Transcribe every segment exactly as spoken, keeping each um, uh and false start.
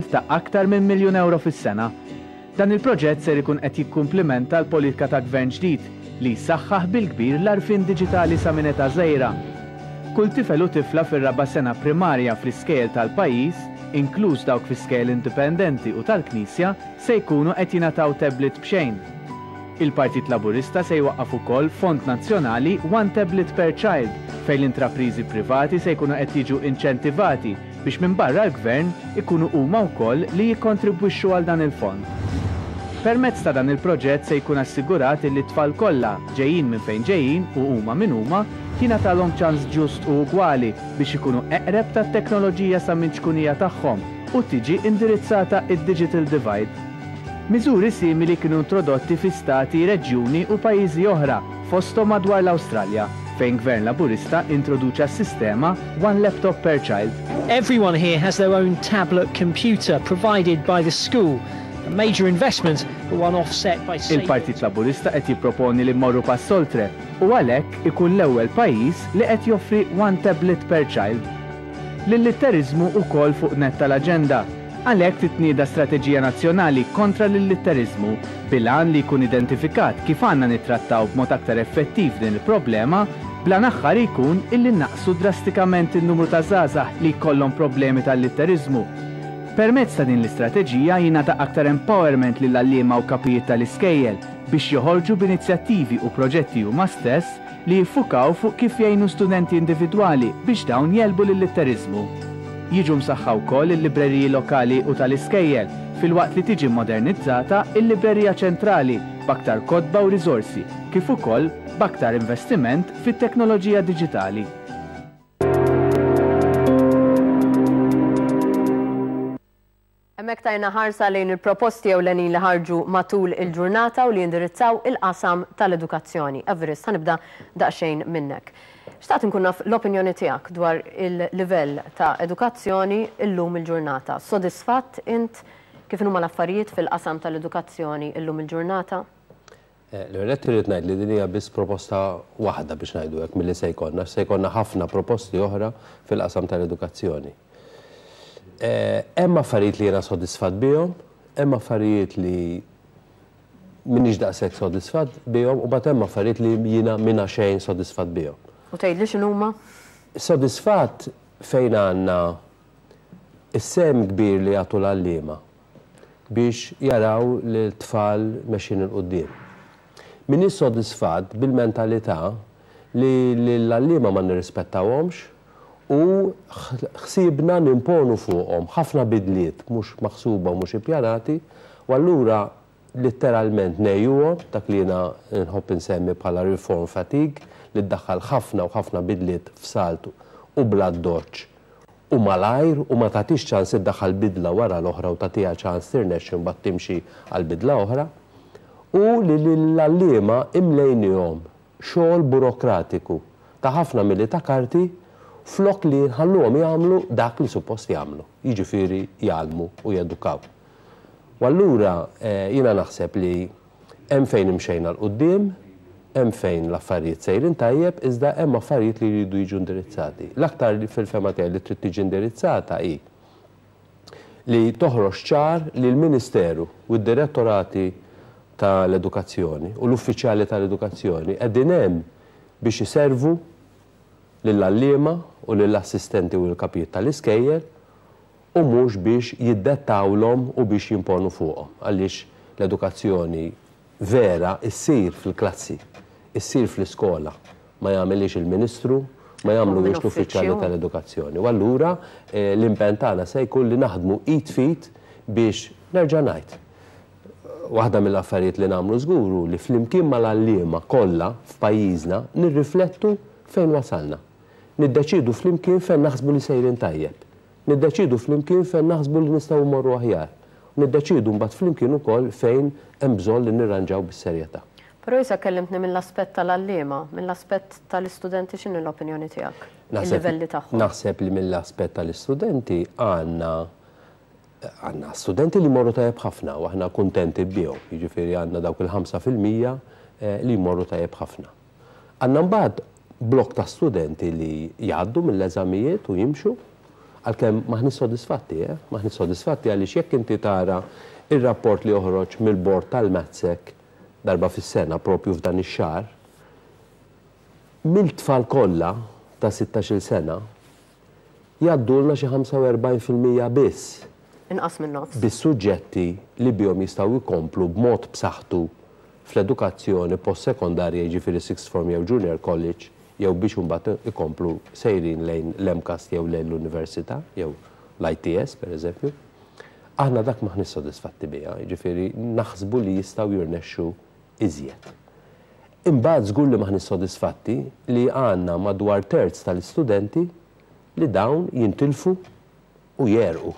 Ta' aktar minn miljun euro fis-sena. Dan il-proġett ser ikun qed jikkumplimenta l-politika ta' gvern ġdid li jsaħħaħ bil-kbir l-għarfien diġitali sa minn età żgħira. Kull tifel u tifla fir-raba' sena primarja fl-iskejjel tal-pajjiż, inkluż dawk fi skejjel indipendenti u tal-Knisja, se jkunu qed jingħataw tablet b'xejn. Il-Partit Laburista se jwaqqaf ukoll Fond Nazzjonali One Tablet per Child, fejn l-intrapriżi privati se jkunu qed jiġu inċentivati biex minn barra l-gvern ikunu huma wkoll li jikkontribwixxu għal dan il-fond. Permezz ta' dan il-proġett se jkun assigurat li t-tfal kollha, ġejjin minn fejn ġejjin u huma min huma, jingħatalhom ċans ġust u ugwali biex ikunu eqreb tat-teknoloġija sa minn ċkunija tagħhom u tiġi indirizzata id-digital divide. Miżuri simili kienu introdotti fi stati, reġjuni u pajjiżi oħra, fosthom madwar l-Awstralja, fejn gvern Laburista introduċa s-sistema One Laptop per Child. Everyone here has their own tablet computer provided by the school. A major investment, but one offset by Il-Partit Laburista qed jipproponi li mmorru pass oltre u għalhekk ikun l-ewwel pajjiż li qed joffri One Tablet per Child. L-illitteriżmu ukoll fuq nett tal-aġenda. Għalhekk titnieda strateġija nazzjonali kontra l-illitteriżmu bil-għan li jkun identifikat kif għandna nittrattaw b'mod aktar effettiv din il-problema, bl-għan aħħari jkun illi naqsu drastikament il-numru ta' żgħażagħ li jkollhom problemi tal-litteriżmu. Permezz ta' din l-istrateġija jingħata aktar empowerment lill-għalliema u kapijiet tal-iskejjel biex joħorġu b'inizjattivi u proġetti huma stess li jiffukaw fuq kif jgħinu studenti individwali biex dawn jegħlbu l-illitteriżmu. Jiġu msaħħa wkoll il-libreriji lokali u tal-iskejjel, filwaqt li tiġi modernizzata il-librerija ċentrali b'aktar kotba u riżorsi, kif ukoll b'aktar investiment fit-teknoloġija diġitali. Hemmhekk tajna ħarsa lejn il-proposti ewlenin li ħarġu matul il-ġurnata u li jindirizzaw il-qasam tal-edukazzjoni. Everest, ħa nibda daqsxejn minnek. Xtaqt nkun naf l-opinjoni tiegħek dwar il-livell ta' edukazzjoni illum il-ġurnata. Sodisfatt int kif huma l-affarijiet fil-qasam tal-edukazzjoni illum il-ġurnata? Eh, l-ewwel irrid ngħid li din hija biss proposta waħda, biex ngħidu hekk, milli se jkollna, se jkollna ħafna proposti oħra fil-qasam tal-edukazzjoni. Eh, hemm affarijiet li jiena sodisfatt bihom, hemm affarijiet li m'iniex daqshekk sodisfatt bihom u mbagħad hemm affarijiet li jiena minna xejn sodisfatt bihom. U tgħidli x'inhuma? Sodisfatt fejn għandna is-sehem kbir li jagħtu l-għalliema biex jaraw li l-tfal mexjin 'il quddiem. M'iniex sodisfatt bil-mentalità li l-għalliema ma nirrispettawhomx u ħsibna nimponu fuqhom ħafna bidliet mhux maħsuba u mhux ippjanati, u allura letteralment ngħejjuhom, dak li jiena nħobb insemmi bħala reform fatigue, li ddaħħal ħafna u ħafna bidliet f'salt u bla doċ u malajr u ma tagħtix ċans iddaħħal bidla wara l-oħra u tagħtiha ċans tirnexxi, mbagħad timxi għal bidla oħra, u li l-għalliema imlejnihom xogħol burokratiku ta' ħafna milli ta' karti flok li nħalluhom jagħmlu dak li suppost jagħmlu, jiġifieri jgħallmu u jedukaw. U allura eh, jiena naħseb li hemm fejn imxejna 'l quddiem, hemm fejn l-affarijiet sejrin tajjeb, iżda hemm affarijiet li jridu jiġu indirizzati. L-aktar li fil-fehma tiegħi li trid tiġi indirizzata hi li toħroġ ċar li l-Ministeru u d-direttorati tal-edukazzjoni u l-uffiċjali tal-edukazzjoni qegħdin hemm biex iservu lill-għalliema u lill-assistenti u l-kapijiet tal-iskejjel u mhux biex jiddettawlhom u biex jimponu fuqhom. Għaliex l-edukazzjoni vera issir fil-klassi, issir fl-iskola, ma jagħmilix il-Ministru, ma jagħmluhiex l-uffiċjali tal-edukazzjoni. U allura eh, l-impenn tagħna se jkun li naħdmu id f'id biex, nerġa' ngħid, waħda mill-affarijiet li nagħmlu żgur hu li flimkien mal-għalliema kollha f'pajjiżna nirriflettu fejn wasalna. Niddeċidu flimkien fejn naħsbu li sejrin tajjeb. Niddeċidu flimkien fejn naħsbu li nistgħu mmorru aħjar. Niddeċidu mbagħad flimkien ukoll fejn hemm bżonn li nirranġaw bis-serjetà. Però issa kellimtni mill-aspett tal-għalliema, mill-aspett tal-istudenti, x'inhi l-opinjoni tiegħek? Il-livelli tagħhom. Naħseb li mill-aspett tal-istudenti għandna għandna studenti li jmorru tajjeb ħafna u aħna kuntenti bihom. Jiġifieri għandna dawk il-ħamsa fil-mija eh, li jmorru tajjeb ħafna. Għandna mbagħad blok ta' studenti li jgħaddu mill-eżamijiet u jimxu, Għalkemm m'aħniex sodisfatti, eh? M'aħniex sodisfatti għaliex jekk inti tara ir-rapport li joħroġ mill-bord tal-MATSEC darba fis-sena propju f'dan ix-xahar, mill-tfal kollha ta' sittax-il sena jgħaddulna xi ħamsa u erbgħin fil-mija biss. Inqas minn nofs. Bis-suġġetti li bihom jistgħu jkomplu b'mod b'saħħtu fl-edukazzjoni post-sekondarja, jiġifieri sixth form jew junior college, jew biex imbagħad ikomplu sejrin lejn l-MCAST jew lejn l-università jew l-I T S, per eżempju. Aħna dak m'aħniex sodisfatti biha, jiġifieri naħsbu li jistgħu jirnexxu iżjed. Imbagħad żgur li m'aħniex sodisfatti li għandna madwar terz tal-istudenti li dawn jintilfu u jegħrqu.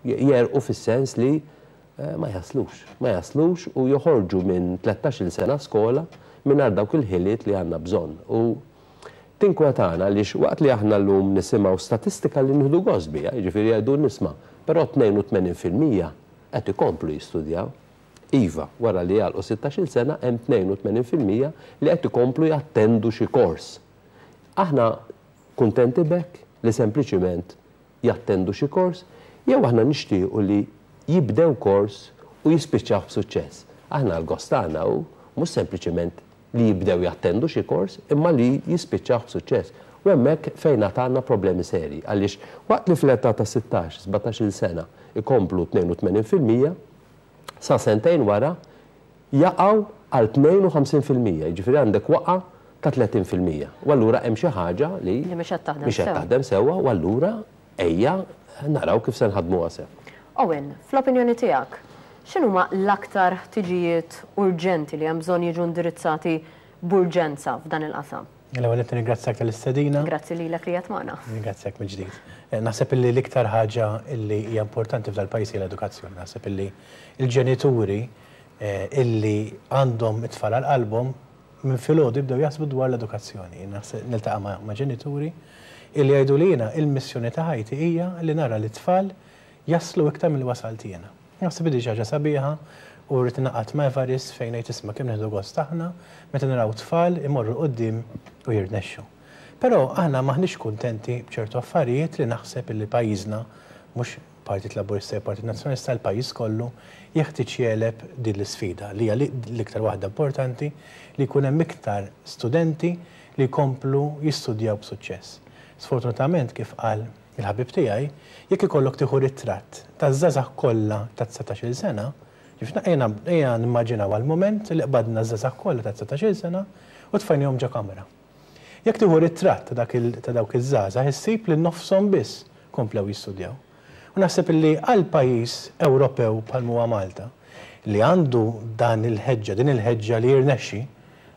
Jegħrqu fis-sens li eh, ma jaslux. Ma jaslux u joħorġu minn tlettax-il sena skola minn dawk il-ħiliet li għandna bżonn. U tinkwetana li waqt li aħna llum nisimgħu statistika li nieħdu gost biha, jiġifieri jgħidu nisma', però tnejn u tmenin fil-mija qed ikomplu jistudjaw. Iva, wara li jagħlqu sittax-il sena hemm tnejn u tmenin fil-mija li qed ikomplu jattendu xi kors. Aħna kuntenti b'hekk li sempliċiment jattendu xi kors, jew aħna nixtiequ li jibdew kors u jispiċċaw b'suċċess? Aħna l-gost tagħna hu mhux sempliċiment li jibdew jattendu xi kors, imma li jispiċċaw b'suċċess. U hemmhekk fejn għandna problemi seri, għaliex waqt li fl-età ta' sittax, sbatax-il sena ikomplu tnejn u tmenin fil-mija, sa sentejn wara jaqgħu għal tnejn u ħamsin fil-mija, jiġifieri għandek waqa ta' tletin fil-mija. U allura hemm xi ħaġa li Li mhix qed taħdem mhix qed sew. Taħdem sewwa u allura ejja naraw kif se nħadmuha sew. Owen, fl-opinjoni tiegħek, x'inhuma l-aktar ħtiġijiet urġenti li hemm bżonn jiġu indirizzati b'urġenza f'dan il-qasam? L-ewwel qed nirringrazzjak tal-istedina. Grazzi lilek li qed magħna. Ringrazzjak mill-ġdid. Eh, Naħseb illi l-iktar ħaġa illi hija importanti f'dal-pajjiż hija l-edukazzjoni. Naħseb illi il-ġenituri eh, illi għandhom it-tfal għal qalbhom minn filgħodu jibdew jaħsbu dwar l-edukazzjoni. Naħseb niltaqa' ma' ma' ġenituri illi jgħidu li jiena il-missjoni ta' ħajti hija li nara li t-tfal jaslu iktar milli wasalt jiena. Naħseb li ħaġa sabiħa u rrid naqgħod ma' Evarist fejn ngħid isma' kemm nieħdu gost aħna meta naraw tfal imorru quddiem u jirnexxu. Però aħna m'aħniex kuntenti b'ċertu affarijiet li naħseb illi pajjiżna, mhux Partit Laburista jew Partit Nazzjonalista, l-pajjiż kollu jeħtieġ jegħleb din l-isfida li hija l-iktar waħda importanti, li jkun hemm iktar studenti li jkomplu jistudjaw b'suċċess. Sfortunatament, kif qal il-ħabib tiegħi, jekk ikollok tieħu ritratt taż-żgħażagħ kollha ta' dsatax-il sena, ġifna ejja ejja nimmaġinaw għal moment li qbadna ż-żgħażagħ kollha ta' dsatax-il sena u tfajnihom ġo kamra. Jekk tieħu ritratt ta' dak il- ta' dawk iż-żgħażagħ, issib li nofshom biss komplew jistudjaw. U naħseb li għal pajjiż Ewropew bħal huwa Malta, li għandu dan il-ħeġġa, din il-ħeġġa li jirnexxi,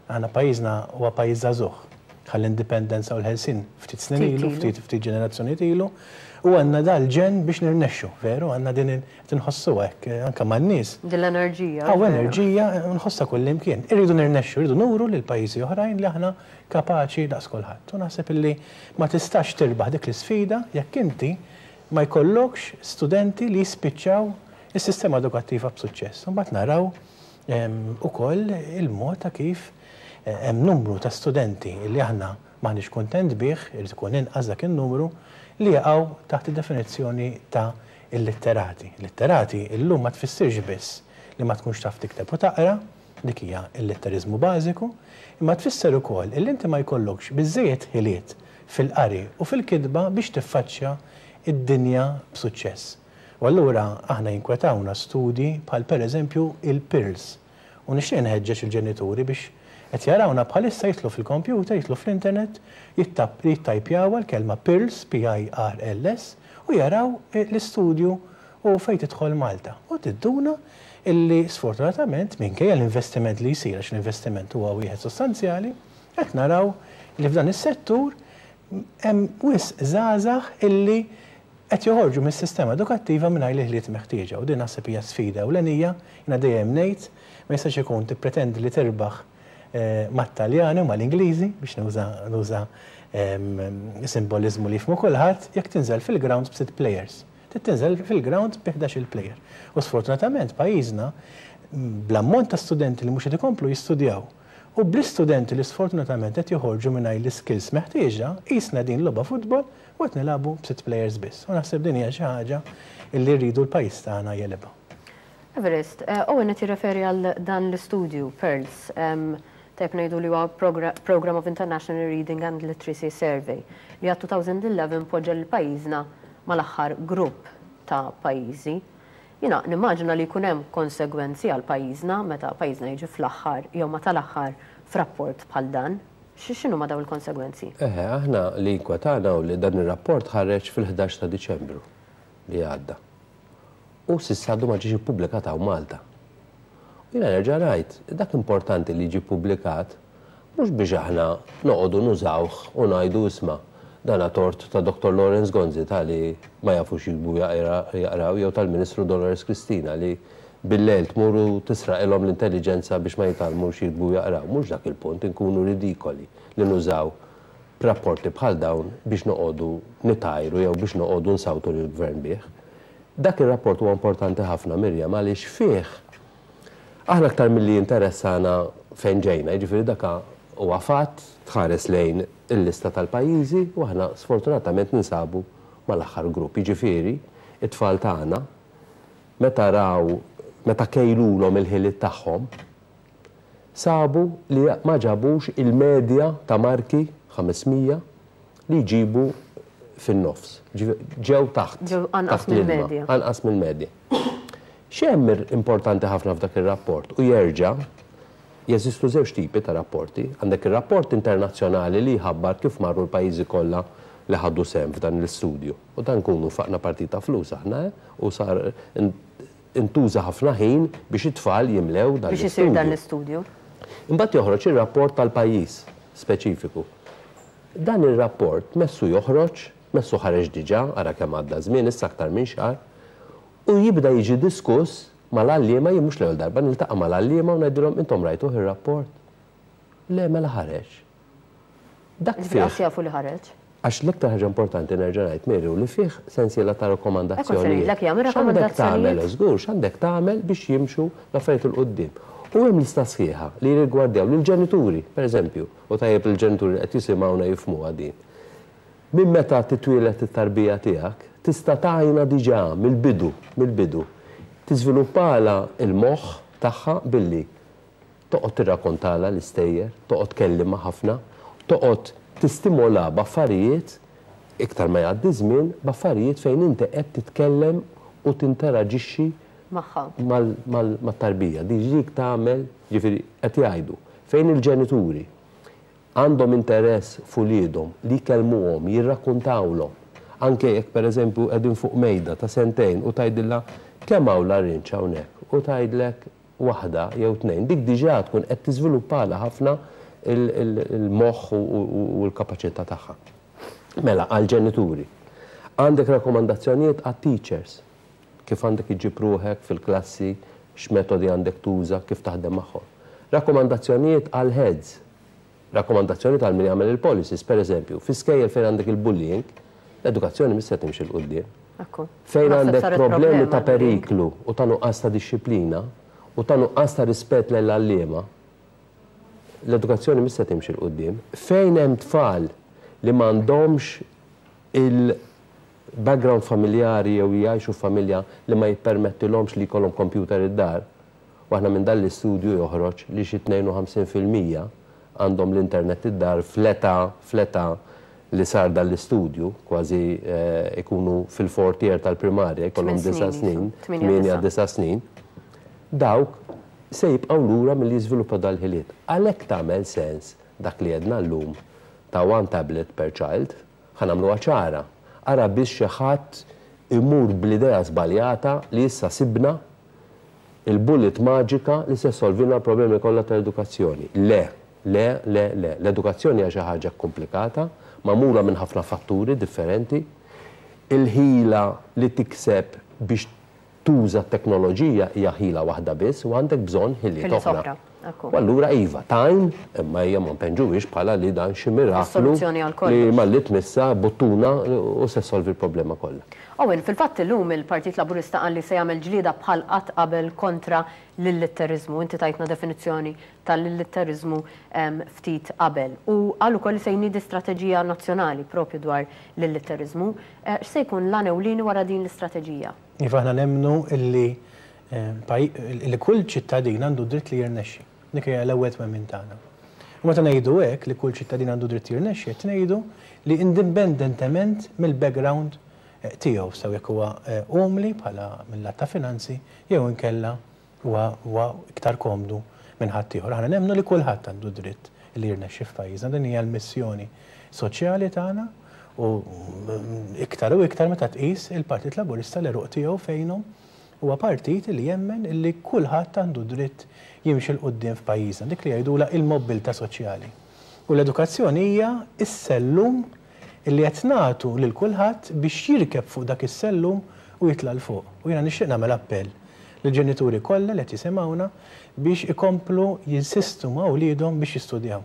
għandna pajjiżna huwa pajjiż żagħżugħ. Ħa l-indipendenza u l-ħelsien ftit snin Ftit ilu, ilu. ftit ftit ġenerazzjonijiet ilu, u għandna dal-ġen biex nirnexxu, veru, għandna din tinħossu hekk anke man-nies. Din l-enerġija. Hawn Veru. enerġija nħossha kull imkien. Irridu nirnexxu, irridu nuru lil pajjiżi oħrajn li aħna kapaċi daqs kulħadd. U naħseb illi ma tistax tirbaħ dik l-isfida jekk inti ma jkollokx studenti li jispiċċaw is-sistema edukattiva b'suċċess. Mbagħad naraw em, ukoll il-mod ta' kif eh, hemm numru ta' studenti li aħna m'aħniex kuntent bih, irid ikun inqas dak in-numru, li jaqgħu taħt id-definizzjoni ta' illitterati. Illitterati illum ma tfissirx biss li ma tkunx taf tikteb u taqra, dik hija l-litterizmu bażiku, imma tfisser ukoll illi inti ma jkollokx biżejjed ħiliet fil-qari u fil-kitba biex tiffaċċja id-dinja b'suċċess. U allura aħna jinkwetawna studji bħal pereżempju il-PIRLS. U nixtieq nħeġġeġ il-ġenituri biex qed jarawna bħalissa jidħlu fil-computer, jidħlu fl-internet, jittajpjaw l-kelma PIRLS, P I R L S, u jaraw l-istudju u fejn tidħol Malta. U tinduna illi sfortunatament, minkejja l-investiment li jsir, għax l-investiment huwa wieħed sostanzjali, qed naraw li f'dan is-settur hemm wisq żgħażagħ illi qed joħorġu mis-sistema edukattiva mingħajr l-ħiliet meħtieġa, u din naħseb hija sfida ewlenija. Jiena dejjem ngħid ma jistax ikun tippretendi li tirbaħ eh, mat-Taljani u mal-Ingliżi, biex nuża nuża simbolizmu li jifhmu kulħadd, jekk tinżel fil-ground b'sitt players. Tinżel fil-ground bi ħdax-il player. U sfortunatament pajjiżna bl-ammont ta' studenti li mhux qed ikomplu jistudjaw u U bl-istudenti li sfortunatament qed joħorġu mingħajr l-skills meħtieġa, qisna din logħba futbol u qed nilagħbu b'sitt players biss. U naħseb din hija xi ħaġa li rridu l-pajjiż tagħna jegħlibha. Everest, Owen qed jirreferi għal dan l-istudju PIRLS, tajb ngħidu li huwa Program of International Reading and Literacy Survey li għal elfejn u ħdax poġġa lil pajjiżna mal-aħħar grupp ta' pajjiżi. Jiena nimmaġina li jkun hemm konsegwenzi għal pajjiżna meta pajjiżna jiġi fl-aħħar jew ma tal-aħħar f'rapport bħal dan. X'inhu ma daw il-konsegwenzi? Eħe, aħna li inkwetana u li dan ir-rapport ħareġ fil-ħdax ta' Diċembru li għadda. U s'issa għadu ma ġiex ippubblikat hawn Malta. U jiena nerġa' ngħid, dak importanti li jiġi ppubblikat mhux biex aħna noqogħdu nużawh u ngħidu isma' dana tort ta' Doktor Lawrence Gonzi ta' li ma jafux jiktbu jaqraw jew tal-Ministru Dolores Cristina li bil-lejl tmuru tisraqilhom l-intelligenza biex ma jitgħallmux jiktbu jaqraw. Mhux dak il-punt, inkunu ridikoli li nużaw rapporti bħal dawn biex noqogħdu nitajru jew biex noqogħdu nsawtu lill-gvern bih. Dak ir-rapport huwa importanti ħafna, Mirjam, għaliex fih aħna aktar milli interessana fejn ġejna, jiġifieri dak huwa fatt tħares lejn il-lista tal-pajjiżi u aħna sfortunatament ninsabu mal-aħħar grupp. Jiġifieri it-tfal tagħna meta raw, meta kejlulhom il-ħiliet tagħhom, sabu li ma ġabux il-medja ta' marki ħames mija li jġibu fin-nofs. Ġew taħt. Ġew anqas taħt l-ilma, mill-medja. Anqas mill-medja. X'hemm importanti ħafna f'dak ir-rapport u jerġa' jeżistu żewġ tipi ta' rapporti. Għandek ir-rapport internazzjonali li jħabbar kif marru l-pajjiżi kollha li ħaddu sehem f'dan l-istudju. U dan kunu faqna partita flus aħna, eh? U sar intuża ħafna ħin biex it-tfal jimlew dan Biex isir dan l-istudju. l-istudju. Imbagħad joħroġ ir-rapport tal-pajjiż speċifiku. Dan ir-rapport messu joħroġ, messu ħareġ diġà, ara kemm għadda żmien, issa aktar minn xahar, u jibda jiġi diskuss mal-għalliema, jien mhux l-ewwel darba niltaqa' mal-għalliema u ngħidilhom intom rajtuh ir-rapport. Le, mela ħareġ. Dak Ġifieri fih. qas jafu li ħareġ. Għax l-iktar ħaġa importanti nerġa' ngħid, Mary, u li fih sensiela ta' rakkomandazzjonijiet. Ekku, se ngħidlek jagħmel X'għandek rakkomandazzjonijiet? tagħmel, żgur, x'għandek tagħmel biex jimxu l-affarijiet 'il quddiem. U hemm lista sħiħa li jirrigwardjaw lill-ġenituri, pereżempju, u tajjeb il-ġenituri qed jisimgħuna jifhmuha din. Minn meta titwieled it-tarbija tiegħek, tista' tgħinha diġà mill-bidu, mill-bidu. Tiżviluppala il-moħħ tagħha billi toqgħod tirrakkontala l-istejjer, toqgħod tkellimha ħafna, toqgħod tistimola b'affarijiet iktar ma jgħaddi żmien, b'affarijiet fejn inti qed titkellem u tinteraġixxi magħha. mal-, mal-, mat-tarbija. Dik tagħmel, ġifieri qed jgħidu, fejn il-ġenituri għandhom interess f'uliedhom li jkellmuhom, jirrakkuntawlhom, anke jekk pereżempju qegħdin fuq mejda ta' sentejn u tgħidilha kemm hawn larinġ hawnhekk u tgħidlek waħda jew tnejn, dik diġà tkun qed tiżviluppalha ħafna il-, il-, il-moħħ u, u, u l-kapaċità tagħha. Mela, għall-ġenituri. Għandek rakkomandazzjonijiet għat-teachers, kif għandek iġġib ruħek fil-klassi, x'metodi għandek tuża, kif taħdem magħhom. Rakkomandazzjonijiet għall-heads, rakkomandazzjonijiet għal min jagħmel il-policies, per eżempju, fi skejjel fejn għandek il-bullying, l-edukazzjoni mhix se timxi 'l quddiem. Ekku. Fejn Naħseb għandek saret problemi problema ta' l-bullying. periklu u ta' nuqqas ta' disċiplina u ta' nuqqas ta' rispett lill-għalliema, l-edukazzjoni mhix se timxi 'l quddiem. Fejn hemm tfal li m'għandhomx il-background familjari jew jgħixu familja li ma jippermettilhomx li jkollhom computer id-dar, u aħna minn dan l-istudju joħroġ li xi tnejn u ħamsin fil-mija għandhom l-internet id-dar fl-età, fl-età li sar dan l-istudju, kważi, eh, ikunu fil-fourth year tal-primarja, jkollhom Tmien disa' snin, snin, tmienja, tmienja, disa'. disa' snin, dawk se jibqgħu lura milli jiżviluppa dal-ħiliet. Għalhekk tagħmel sens dak li għedna llum ta' one tablet per child, ħa nagħmluha ċara. Ara biex xi ħadd imur bl-idea żbaljata li issa sibna il-bullet maġika li se solvina l-problemi kollha tal-edukazzjoni. Le, le, le, le. L-edukazzjoni hija xi ħaġa komplikata, magħmula minn ħafna fatturi differenti. Il-ħila li tikseb biex tuża t-teknoloġija hija ħila waħda biss u għandek bżonn ħiliet Ħiliet oħra. oħra, ekku. U allura iva, tajn, imma hija ma npenġuhiex bħala li dan xi miraklu Is-soluzzjoni għal kollox. li malli tmissa buttuna u se solvi l-problema kollha. Owen, fil-fatt illum il-Partit Laburista qal li se jagħmel ġlieda bħal qatt qabel kontra l-illitteriżmu. Inti tajtna definizzjoni tal-illitteriżmu ftit qabel. U qal ukoll li se jniedi strateġija nazzjonali propju dwar l-illitteriżmu. X'se jkun l-għan ewlieni wara din l-istrateġija? Iva, aħna nemmnu illi li kull ċittadin għandu dritt li jirnexxi. Dik hija l-ewwel twemmin tagħna. U meta ngħidu hekk li kull ċittadin għandu dritt jirnexxi, qed ngħidu li indipendentement mill-background tiegħu, sew jekk huwa umli bħala mill-lat ta' finanzi jew inkella huwa iktar komdu minn ħaddieħor. Aħna nemmnu li kulħadd għandu dritt li jirnexxi f'pajjiżna. Din hija l-missjoni soċjali tagħna u iktar u iktar meta tqis il-Partit Laburista l-għeruq tiegħu fejnhom huwa partit li jemmen li kulħadd għandu dritt jimxi 'l quddiem f'pajjiżna, dik li jgħidulha il-mobilità soċjali. U l-edukazzjoni hija s-sellum illi qed nagħtu lil kulħadd biex jirkeb fuq dak is-sellum u jitla' 'l fuq. U jiena nixtieq nagħmel appell lill-ġenituri kollha li qed jisimgħuna biex ikomplu jinsistu ma' wliedhom biex jistudjaw.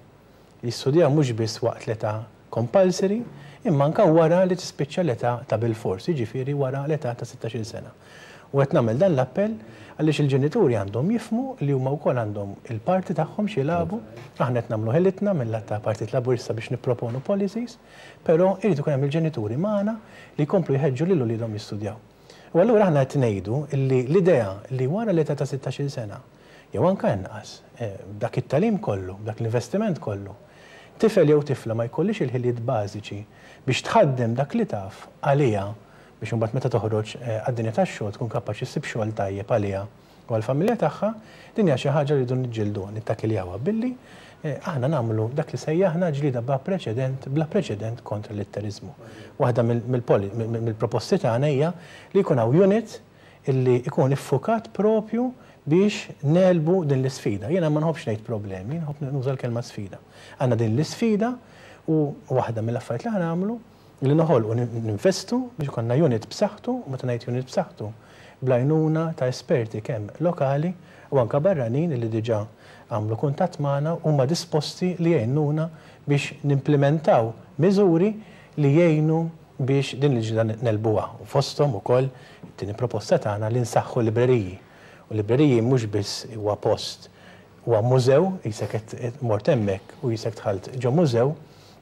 Jistudjaw mhux biss waqt l-età compulsory, imma anke wara li tispiċċa l-età ta' bilfors, jiġifieri wara l-età ta' sittax-il sena. U qed nagħmel dan l-appell għaliex il-ġenituri għandhom jifhmu li huma wkoll għandhom il-parti tagħhom x'jilagħbu. Aħna qed nagħmlu ħilitna mill-lat ta' Partit Laburista biex nipproponu policies, però irid ikun hemm il-ġenituri magħna li jkomplu jħeġġu lil uliedhom jistudjaw. U allura aħna qed ngħidu li l-idea li wara l-età ta' sittax-il sena, jew anke inqas, b'dak it-tagħlim kollu, b'dak l-investiment kollu, tifel jew tifla ma jkollix il-ħiliet bażiċi biex tħaddem dak li taf għaliha biex imbagħad meta toħroġ għad-dinja tax-xogħol tkun kapaċi ssib xogħol tajjeb għaliha u għall-familja tagħha, din hija xi ħaġa li rridu niġġielduha, nittakkiljawha billi aħna nagħmlu dak li sejjaħna ġlieda bla preċedent, bla preċedent kontra l-litteriżmu. Waħda mill-proposti tagħna hija li jkun hawn unit illi ikun iffukat propju biex nelbu din l-isfida. Jiena ma nħobbx ngħid problemi, nħobb nuża l-kelma sfida. Għandna din l-isfida u waħda mill-affarijiet li aħna nagħmlu li noħolqu ninvestu biex ikollna unit b'saħħtu, u meta ngħid unit b'saħħtu, bl-għajnuna ta' esperti kemm lokali u anke barranin li diġà għamlu kuntatt magħna huma disposti li jgħinuna biex nimplementaw miżuri li jgħinu biex din il-ġlieda nelbuha. U fosthom ukoll it-tieni proposta tagħna li nsaħħu libreriji. U libreriji mhux biss huwa post, huwa mużew, jisek qed mort hemmhekk u jisek dħalt ġo mużew,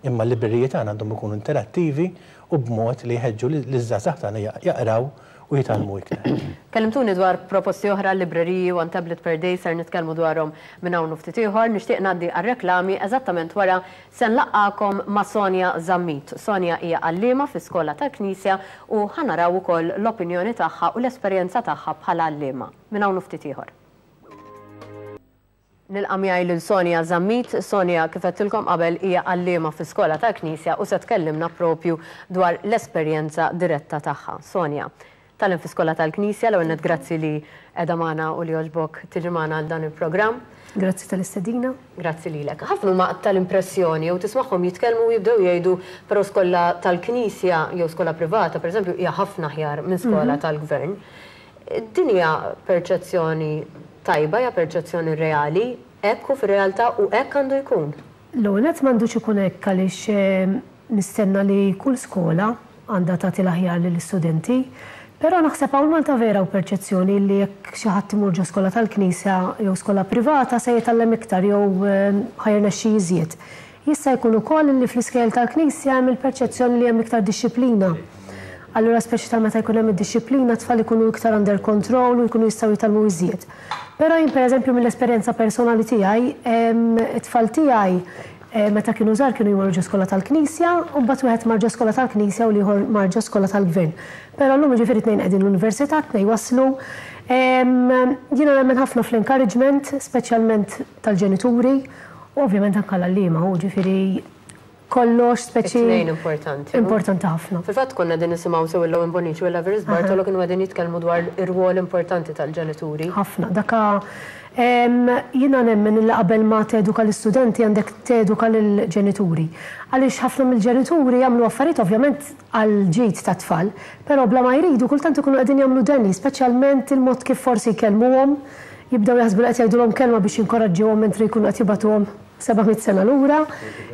imma l-libreriji tagħna għandhom ikunu interattivi u b'mod li jħeġġu liż-żgħażagħ tagħna jaqraw u jitgħallmu iktar. Kellimtuni dwar proposti oħra, libreriji, one tablet per day, ser nitkellmu dwarhom minn hawn u ftit ieħor. Nixtieq ngħaddi għar-reklami eżattament wara se nlaqqakom ma' Sonia Zammit. Sonia hija għalliema fi skola tal-Knisja u ħa naraw ukoll l-opinjoni tagħha u l-esperjenza tagħha bħala għalliema. Minn hawn u ftit ieħor. Nilqa' miegħi lil Sonia Zammit. Sonia, kif għedtilkom qabel, hija għalliema fi skola tal-Knisja u se tkellimna propju dwar l-esperjenza diretta tagħha. Sonia, tgħallem fi skola tal-Knisja, l-ewwel nett grazzi li qiegħda magħna u li għoġbok tiġi magħna għal dan il-programm. Grazzi tal-istedina. Grazzi lilek. Ħafna huma tal-impressjoni jew tismagħhom jitkellmu u jibdew jgħidu però skola tal-Knisja jew skola privata, pereżempju, hija ħafna aħjar minn skola tal-gvern. Din hija perċezzjoni tajba, hija perċezzjoni reali, hekk hu fir-realtà u hekk għandu jkun? L-ewwel nett m'għandux ikun hekk għaliex nistenna li kull skola għandha tagħti l-aħjar lill-istudenti. Però naħseb hawn Malta vera u perċezzjoni li jekk xi ħadd imur ġo skola tal-Knisja jew skola privata se jitgħallem iktar jew ħa jirnexxi iżjed. Jista' jkun ukoll li fl-iskejjel tal-Knisja hemm il-perċezzjoni li hemm iktar dixxiplina. Allura speċi ta' meta jkun hemm id-dixxiplina tfal ikunu iktar under control u jkunu jistgħu jitgħallmu iżjed. Però jien pereżempju mill-esperjenza personali tiegħi, it-tfal tiegħi meta kienu żgħar kienu jmorru ġo skola tal-Knisja u mbagħad wieħed mar ġo skola tal-Knisja u l-ieħor mar ġo skola tal-Gvern. Però llum jiġifieri tnejn qegħdin l-università, tnejn waslu. Jiena nemmen ħafna fl-encouragement, speċjalment tal-ġenituri, u ovvjament anke l-għalliema, u ġifieri kollox speċi. It-tnejn importanti. Importanti ħafna. Fil-fatt konna din nisimgħu sew il-Owen Bonnici u l-Everest Bartolo kienu qegħdin jitkellmu dwar ir-rwol importanti tal-ġenituri. Ħafna. Daka jiena nemmen li qabel ma teduka l-istudenti għandek teduka l-ġenituri. Għaliex ħafna mill-ġenituri jagħmlu affarijiet ovvjament għal ġid tat-tfal, però bla ma jridu kultant ikunu qegħdin jagħmlu danni, speċjalment il-mod kif forsi jkellmuhom, jibdew jaħsbu li qed jgħidulhom kelma biex jinkoraġġuhom mentri jkunu qed jibgħatuhom seba' mitt sena lura.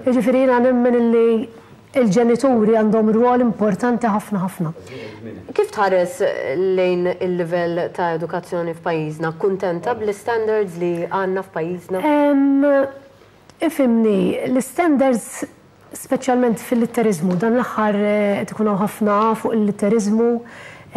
Jiġifieri jiena nemmen illi Il-ġenituri għandhom rwol importanti ħafna ħafna. Kif tħares lejn il-livell ta' edukazzjoni f'pajjiżna? Kuntenta bl-standards li għandna f'pajjiżna? Ifhimni, l-standards speċjalment fil-litteriżmu, dan l-aħħar qed ikun hawn ħafna fuq il-litteriżmu.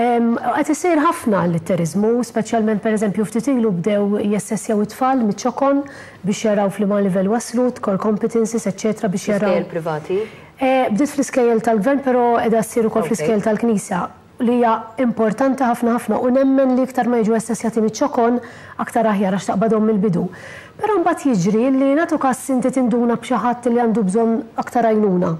Qed isir ħafna l-litteriżmu, speċjalment pereżempju ftit ilu bdew jassessjaw it-tfal miċ-ċokon biex jaraw f'liema livell waslu, core competencies, eċċetera biex jaraw. Iskejjel privati? Bdiet fl-iskejjel tal-gvern, però qiegħda ssir ukoll fl-iskejjel tal-Knisja, li hija importanti ħafna ħafna u nemmen li iktar ma jiġu assessjati miċ-ċokon aktar aħjar għax taqbadhom mill-bidu. Però mbagħad jiġri li nagħtu każ inti tinduna b'xi ħadd li għandu bżonn aktar għajnuna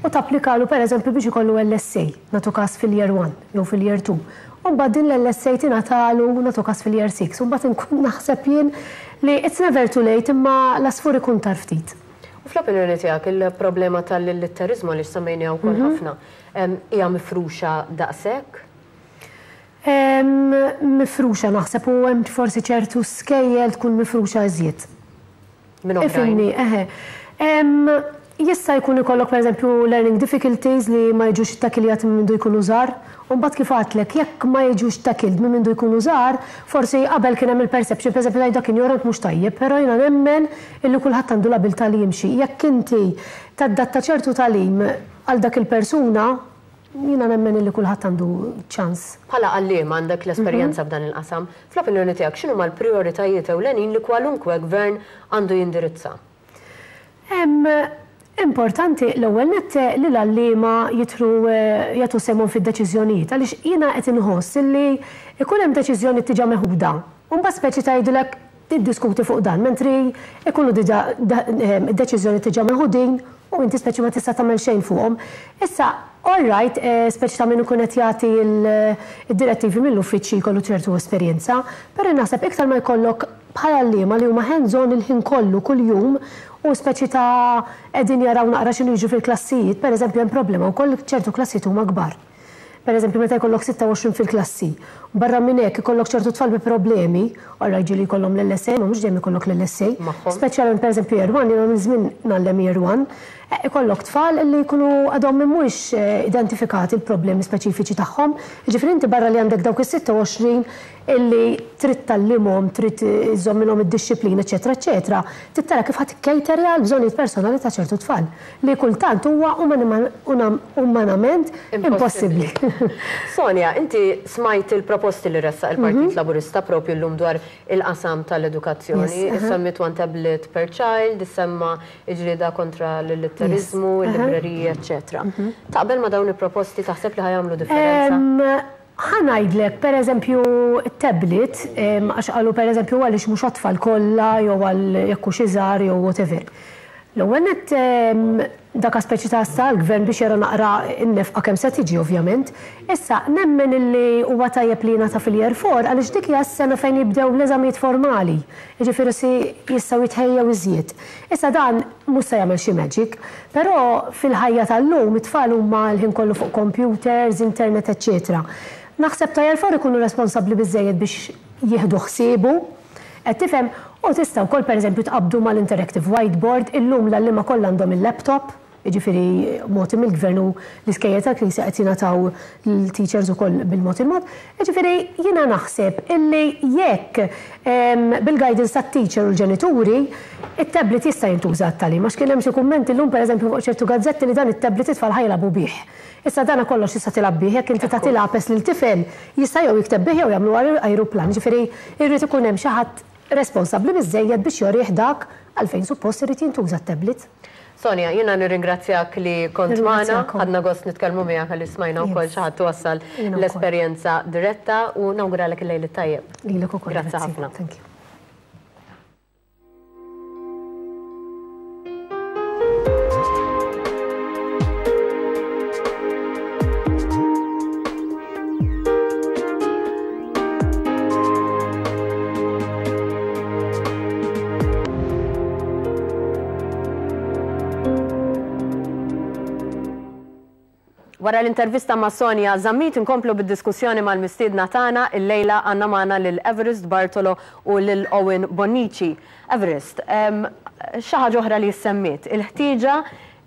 u tapplikalu pereżempju biex ikollu L S A, nagħtu każ fil-year one jew fil-year two. U mbagħad din l-L S A tingħatalu nagħtu każ fil-year six u mbagħad inkun naħseb jien li it's never too late imma l-asfur ikun tar ftit. U fl-opinjoni tiegħek il-problema tal-litteriżmu li semmejniha wkoll ħafna, hija mifruxa daqshekk? Mifruxa naħseb u hemm forsi ċertu skejjel tkun mifruxa iżjed. Minn oħrajn. Ifhimni, eħe. Jista' jkun ikollok pereżempju learning difficulties li ma jiġux ittakiljati minn mindu jkunu żgħar, u mbagħad kif għadtlek jekk ma jiġux ttakiled minn mindu jkunu żgħar, forsi qabel kien hemm il-perception, pereżempju tgħid dak injorant mhux tajjeb, però jiena nemmen illi kulħadd għandu l-abilità li jimxi. Jekk inti tadatta ċertu tagħlim għal dak il-persuna, jiena nemmen illi kulħadd għandu ċans. Bħala għalliem għandek l-esperjenza f'dan il-qasam, fl-opinjoni tiegħek x'inhuma l-prijoritajiet ewlenin li kwalunkwe gvern għandu jindirizza? Importanti l-ewwel nett li l-għalliema jitru jagħtu sehemhom fid-deċiżjonijiet, għaliex jiena qed inħoss illi ikun hemm deċiżjoni diġà meħuda. U mbagħad speċi tgħidilek tiddiskuti fuq dan, mentri ikunu diġà deċiżjoni diġà meħudin u inti speċi ma tista' tagħmel xejn fuqhom. Issa, all right, speċi ta' min ikun qed jagħti id-direttivi mill-uffiċċji jkollu ċertu esperjenza, però naħseb iktar ma jkollok bħala għalliema li huma hands-on il-ħin kollu kuljum u speċi ta' qegħdin jaraw naqra x'inhu jiġu fil-klassijiet, pereżempju hemm problema wkoll ċertu klassijiet huma kbar. Pereżempju meta jkollok sitta u għoxrin fil-klassi, barra minn hekk ikollok ċertu tfal bi problemi, allura jiġi li jkollhom l-L S A, ma mhux dejjem ikollok l-L S A. Magħhom. Speċjalment pereżempju year one, jiena minn żmien ngħallem year one, ikollok tfal li jkunu għadhom mhumiex identifikati l-problemi speċifiċi tagħhom. Jiġifieri inti barra li għandek dawk is-sitta u għoxrin illi trid tgħallimhom, trid iżżomm minnhom id-dixxiplina, eċetera, eċetera, trid tara kif ħadd ikkejterja l-bżonnijiet personali ta' ċertu tfal li kultant huwa umanament impossibbli. Sonia, inti smajt il-proposti li ressaq il-Partit Mhm. Laburista propju llum dwar il-qasam tal-edukazzjoni. Yes, aha. Issemmiet one tablet per child, issemma ġlieda kontra l-litteriżmu, Yes, aha. il-libreriji, eċetera. Mhm. Taqbel ma dawn il-proposti taħseb li ħajamlu differenza? Em, ħa ngħidlek, per eżempju, tablet, em, għax qalu per eżempju għaliex mhux għat-tfal kollha jew għal jekk hux iżgħar jew whatever. L-ewwel nett, em, dak speċi ta' issa l-gvern biex jara naqra n-nefqa kemm se tiġi ovvjament. Issa nemmen illi huwa tajjeb li jingħata fil-year four għaliex dik hija s-sena fejn jibdew l-eżamijiet formali. Jiġifieri si jistgħu jitħejjew iżjed. Issa dan mhux se jagħmel xi magic, però fil-ħajja tal-lum it-tfal huma l-ħin kollu fuq computers, internet, eċċetera. Naħseb ta' year four ikunu responsabbli biżżejjed biex jieħdu ħsiebu, qed tifhem, u tista' wkoll pereżempju tqabdu mal-interactive whiteboard, illum l-għalliema kollha għandhom il-laptop, jiġifieri mogħti mill-gvern u l-iskejjel tal-Knisja qed jingħataw l-teachers ukoll bil-mod il-mod. Jiġifieri jiena naħseb illi jekk, em, bil-guidance tat-teacher u l-ġenituri, it-tablet jista' jintuża għat-tagħlim, għax kien hemm xi kummenti llum pereżempju fuq ċertu gazzetti li dan it-tablet it-tfal ħajlabu bih. Issa dana kollox jista' tilgħab bih, jekk inti tagħti lapes lil tifel jista' jew jikteb bih jew jagħmlu ajruplan, jiġifieri jrid ikun hemm xi ħadd responsabbli biżżejjed biex jorih dak għalfejn suppost irid jintuża t-tablet. Sonia, jiena nirringrazzjak li kont magħna, Nirringrazzjakom. ħadna gost nitkellmu miegħek għalli smajna wkoll Yes. xi ħadd wassal Jiena wkoll. l-esperjenza diretta u nawguralek il-lejl it-tajjeb. Lilek ukoll, Grazzi grazzi. ħafna. Thank you. Wara l-intervista ma' Sonia Zammit inkomplu bid-diskussjoni mal-mistiedna tagħna illejla għandna magħna lil Everest Bartolo u lil Owen Bonnici. Everest, em, xi ħaġa oħra li semmiet, il-ħtieġa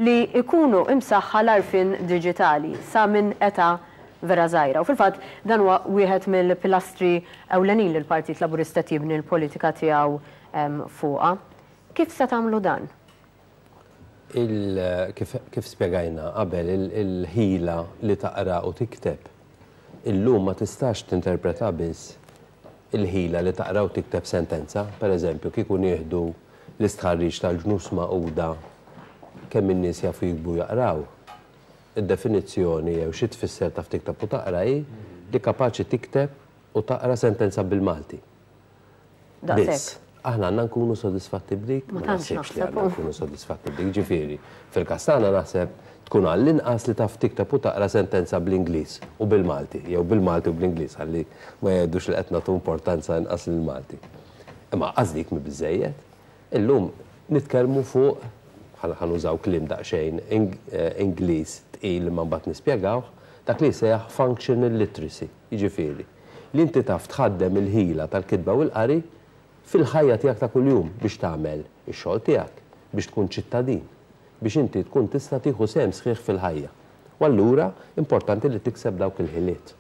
li jkunu imsaħħa l-għarfien diġitali sa minn età vera żgħira. U fil-fatt dan huwa wieħed mill-pilastri ewlenin li l-Partit Laburista jibni l-politika tiegħu fuqha. Kif se tagħmlu dan? Kif, kif spjegajna qabel, il-ħila li taqra u tikteb illum ma tistax tinterpreta biss il-ħila li taqra u tikteb sentenza. Per eżempju, kieku nieħdu l-istħarriġ tal-Ġnus Magħquda kemm in-nies jafu jiktbu jaqraw, id-definizzjoni jew xi tfisser taf tikteb u taqra hi li kapaċi tikteb u taqra sentenza bil-Malti. Biss. Aħna għandna nkunu sodisfatti b'dik? Ma tantx naħsibx li għandna nkunu sodisfatti b'dik. Ġifieri, fil-każ tagħna naħseb tkun għall-inqas li taf tikteb u taqra sentenza bl-Ingliż u bil-Malti, jew bil-Malti u bl-Ingliż, ħalli ma jgħidux li qed nagħtu importanza inqas lill-Malti. Imma qas dik mhi biżejjed. Illum nitkellmu fuq, ħa nużaw kliem daqsxejn Ingliż tqil imma mbagħad nispjegawh, dak li jsejjaħ functional literacy, jiġifieri li inti taf tħaddem il-ħila tal-kitba u l-qari fil-ħajja tiegħek ta' kuljum biex tagħmel ix-xogħol tiegħek, biex tkun ċittadin, biex inti tkun tista' tieħu sehem sħiħ fil-ħajja. U allura importanti li tikseb dawk il-ħiliet.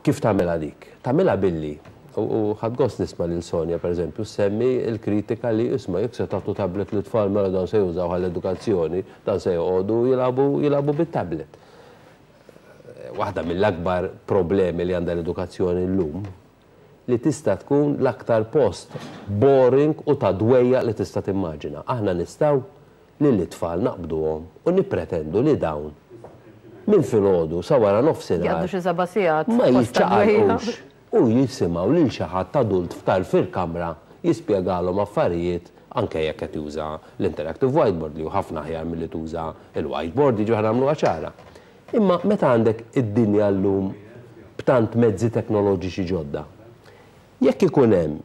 Kif tagħmilha dik? Tagħmilha billi, u ħadt gost nisma' lil Sonja pereżempju semmi l-kritika li isma' jekk se tagħtu tablet lit-tfal mela dan se jużaw għall-edukazzjoni, dan se joqogħdu jilagħbu jilagħbu bit-tablet. Waħda mill-akbar problemi li għandha l-edukazzjoni llum li tista' tkun l-aktar post boring u ta' dwejja li tista' timmaġina. Aħna nistgħu li l-tfal naqbduhom u nippretendu li dawn minn filgħodu sa wara nofsinhar Jgħaddu xi seba' sigħat ma fost ta' dwejja. jiċċaqalqux u jisimgħu lil xi ħadd adult f'tarf il-kamra jispjegalhom affarijiet, anke jekk qed juża l-interactive whiteboard li hu ħafna aħjar milli tuża l-whiteboard, jiġu nagħmluha ċara. Imma meta għandek id-dinja llum b'tant mezzi teknoloġiċi ġodda, jekk ikun hemm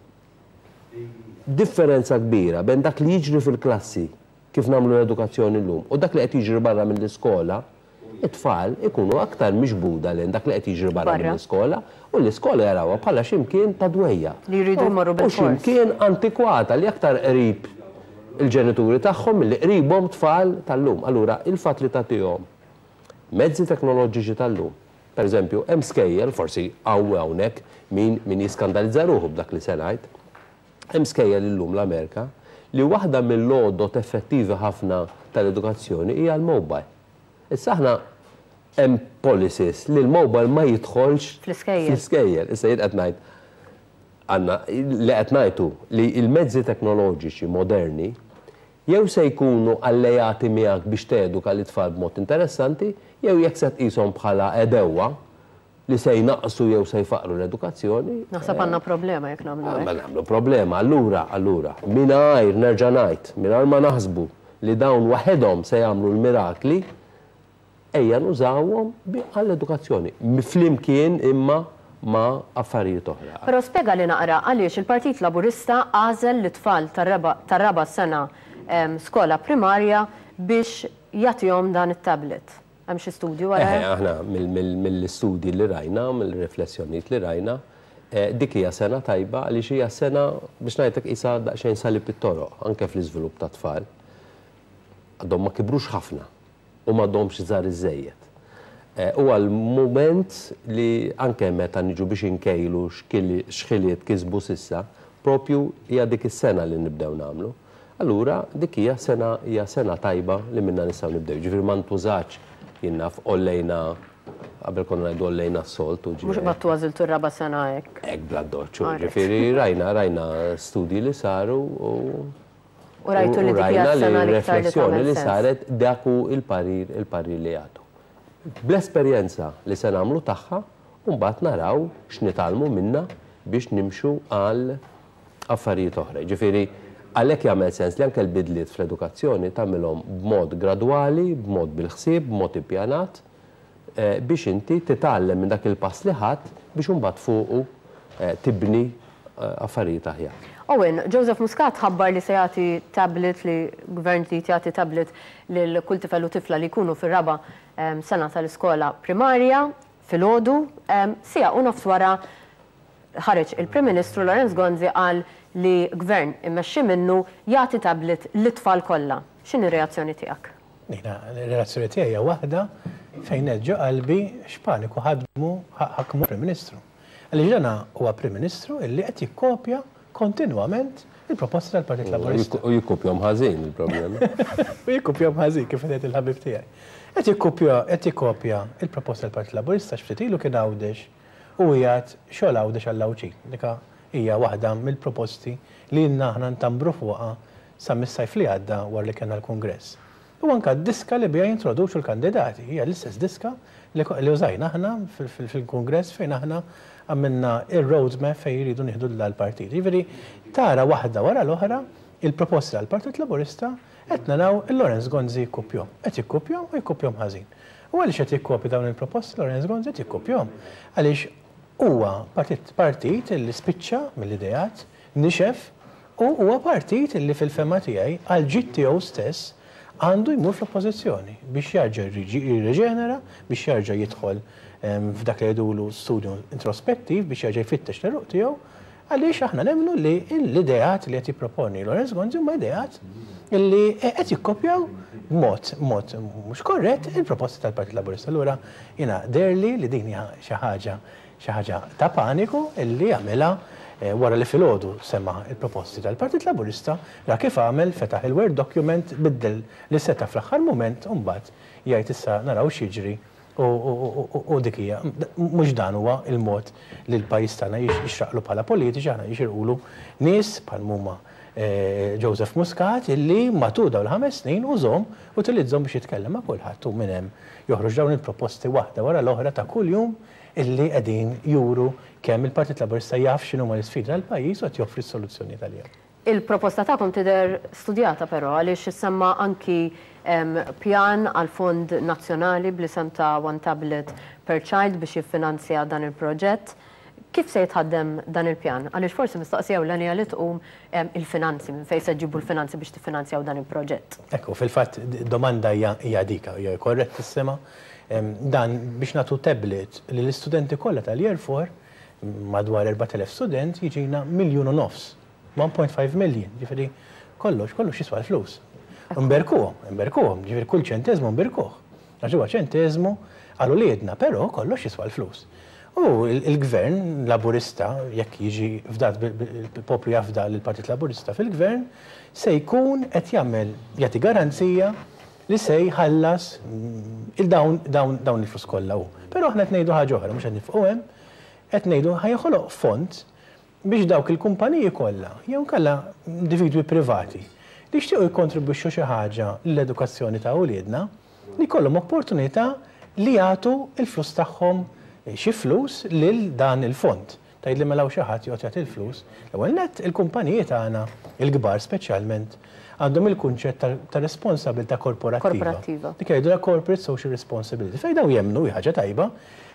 differenza kbira bejn dak li jiġri fil-klassi kif nagħmlu l-edukazzjoni llum u dak li qed jiġri barra mill-iskola, it-tfal ikunu aktar miġbuda lejn dak li qed jiġri barra mill-iskola u l-iskola jarawha bħala x'imkien ta' dwejja. Li jridu jmorru U bil-fors. x'imkien antikwata li aktar qrib il-ġenituri tagħhom milli qribhom tfal tal-lum. Allura il-fatt li tagħtihom mezzi teknoloġiċi tal-lum. Per eżempju, hemm skejjel, forsi hawn hawnhekk min min jiskandalizza ruħu b'dak li se ngħid. Hemm skejjel illum l-Amerika li waħda mill-għodot effettivi ħafna tal-edukazzjoni hija l-mobile. Issa aħna hemm policies li l-mobile ma jidħolx Fl-iskejjel. Fl-iskejjel. Issa jien qed ngħid għandna li qed ngħidu li l-mezzi teknoloġiċi moderni jew se jkunu allejati miegħek biex teduka l-itfal b'mod interessanti, jew jekk se tqishom bħala għedewwa li se jnaqsu jew se jfaqru l-edukazzjoni. Naħseb għandna problema jekk nagħmlu Ma hekk. nagħmlu problema. Allura, allura, mingħajr nerġa' ngħid, mingħajr ma naħsbu li dawn waħedhom se jagħmlu l-mirakli, ejja nużawhom għall-edukazzjoni. Flimkien imma ma' affarijiet oħra. Però spjega li naqra għaliex il-Partit Laburista għażel l-tfal tar-raba' sena skola primarja biex jagħtihom dan it-tablet. Hemm xi studju wara? Eħe, aħna mill-istudji li rajna, mill-riflessjonijiet li rajna, dik hija sena tajba għaliex hija sena biex ngħidlek qisha daqsxejn salib it-toroq anke fl-iżvilupp ta' tfal. Għadhom ma kibrux ħafna u m'għadhomx żgħar iżejjed. Huwa l-mument li anke meta niġu biex inkejlu x'ħiliet kisbu s'issa, propju hija dik is-sena li nibdew nagħmlu. Allura dik hija sena hija sena tajba li minna nistgħu nibdew. Ġifieri ma ntużax jien naf ollejna qabel konna ngħidu ollejna s-solt u ġifieri. Mhux battu għażiltu r-raba' sena hekk. Hekk bla doċċu. Ġifieri rajna rajna studji li saru u U rajtu li dik hija s-sena li riflessjoni li saret dak hu il-parir il-parir li jagħtu. Bl-esperjenza li se nagħmlu tagħha u mbagħad naraw x'nitgħallmu minna biex nimxu għal affarijiet oħra. Ġifieri għalhekk jagħmel sens li anke l-bidliet fl-edukazzjoni tagħmilhom b'mod gradwali, b'mod bil-ħsieb, b'mod ippjanat, biex inti titgħallem minn dak il-pass li ħadd biex imbagħad fuqu tibni affarijiet aħjar. Owen, Joseph Muscat ħabbar li se jagħti tablet, li gvern li jagħti tablet lil kull tifel u tifla li jkunu fir-raba' sena tal-iskola primarja filgħodu, siegħa u nofs wara Ħareġ il-Prim Ministru Lawrence Gonzi, qal li gvern immexxi minnu jagħti tablet lit-tfal kollha. X'inhi reazzjoni tiegħek? Jiena, ir-reazzjoni tiegħi hija waħda fejn ġo qalbi x'paniku ħadmu ħakmu Prim Ministru. Għaliex dana huwa Prim Ministru illi qed jikkopja kontinwament il-proposti tal-Partit Laburista. U jikkopjahom ħażin il-problema. U jikkopjahom ħażin, kif qed il-ħabib tiegħi. Qed jikkopja qed jikkopja il-proposta tal-Partit Laburista. X'ftit ilu kien Għawdex u jgħid xogħol Għawdex għall-Għawdxin. Dika hija waħda mill-proposti li ilna aħna ntambru fuqha sa mis-sajf li għadda wara li kellna l-Kungress. U anka d-diska li bija jintroduċu l-kandidati, hija l-istess diska li użajna aħna fil-Kungress fejn aħna għamilna il-roadmap fejn jridu nieħdu l-partit. Jiġifieri tara waħda wara l-oħra il-proposti tal-Partit Laburista qed naraw il-Lawrence Gonzi jikkopjahom. Qed jikkopjahom u jikkopjahom ħażin. U għaliex qed jikkopja dawn il-proposti Lawrence Gonzi? Qed jikkopjahom għaliex huwa partit partit li spiċċa mill-ideat, nixef, u huwa partit li fil-fehma tiegħi għal ġid tiegħu stess għandu jmur fl-oppożizzjoni biex jarġa' jirriġenera, biex jarġa' jidħol f'dak li jgħidulu studju introspettiv, biex jarġa' jfittex l-għeruq tiegħu, għaliex aħna nemmnu li l-ideat li qed jipproponi Lawrence Gonzi huma ideat li qed jikkopjaw b'mod mod mhux korrett il-proposti tal-Partit Laburista. Allura jiena deherli li din hija xi ħaġa xi ħaġa ta' paniku illi għamilha wara li filgħodu sema il-proposti tal-Partit Laburista, ra kif għamel, fetaħ il-Word document, biddel li seta fl-aħħar moment, u mbagħad jgħid issa naraw x'jiġri, u dik hija. Mhux dan huwa il-mod li l-pajjiż tagħna jixraqlu bħala politiċi. Aħna jixirqulu nies bħal huma Joseph Muscat illi matul dawn l-ħames snin użahom, utilizzahom biex jitkellem ma' kulħadd, u minn hemm joħroġ dawn il-proposti waħda wara l-oħra ta' kuljum illi qegħdin juru kemm il-Partit Laburista jaf x'inhuma l-isfidi tal-pajjiż u qed joffri s-soluzzjoni tal-jom. Il-proposta tagħkom tidher studjata però, għaliex issemma anki pjan għal fond nazzjonali bl-isem ta' One Tablet per Child biex jiffinanzja dan il-proġett. Kif se jitħaddem dan il-pjan? Għaliex forsi mistoqsija ewlenija li tqum il-finanzi, minn fejn se ġibu l-finanzi biex tiffinanzjaw dan il-proġett? Ekku, fil-fatt domanda hija dika, hija korrettissima. Dan biex nagħtu tablet li l-istudenti kollha tal-Year four, madwar erbat elef student, jiġina miljun u nofs, one point five million, ġifieri kollox, kollox jiswa l-flus. Nberkuhom, nberkuhom, ġifieri kull ċentezmu nberkuh. Għax huwa ċentezmu għal uliedna, però kollox jiswa l-flus. U il-gvern Laburista, jekk jiġi fdat il-poplu jafda l-Partit Laburista fil-gvern, se jkun qed jagħmel jagħti garanzija li se jħallas il-dawn dawn dawn il-flus kollha hu. Però aħna qed ngħidu ħaġa oħra, mhux qed nifqu hemm, qed ngħidu ħa joħloq fond biex dawk il-kumpaniji kollha jew kollha individwi privati li jixtiequ jikkontribwixxu xi ħaġa l-edukazzjoni ta' uliedna li jkollhom opportunità li jagħtu il-flus tagħhom, xi flus lil dan il-fond. Tgħid li mela xi ħadd joqgħod jagħti il-flus. L-ewwel nett il-kumpaniji tagħna, il-kbar speċjalment, għandhom il-kunċett ta' responsabilità korporattiva. Korporattiva. Dik jgħidu la corporate social responsibility. Fejn daw jemmnu, ħaġa tajba,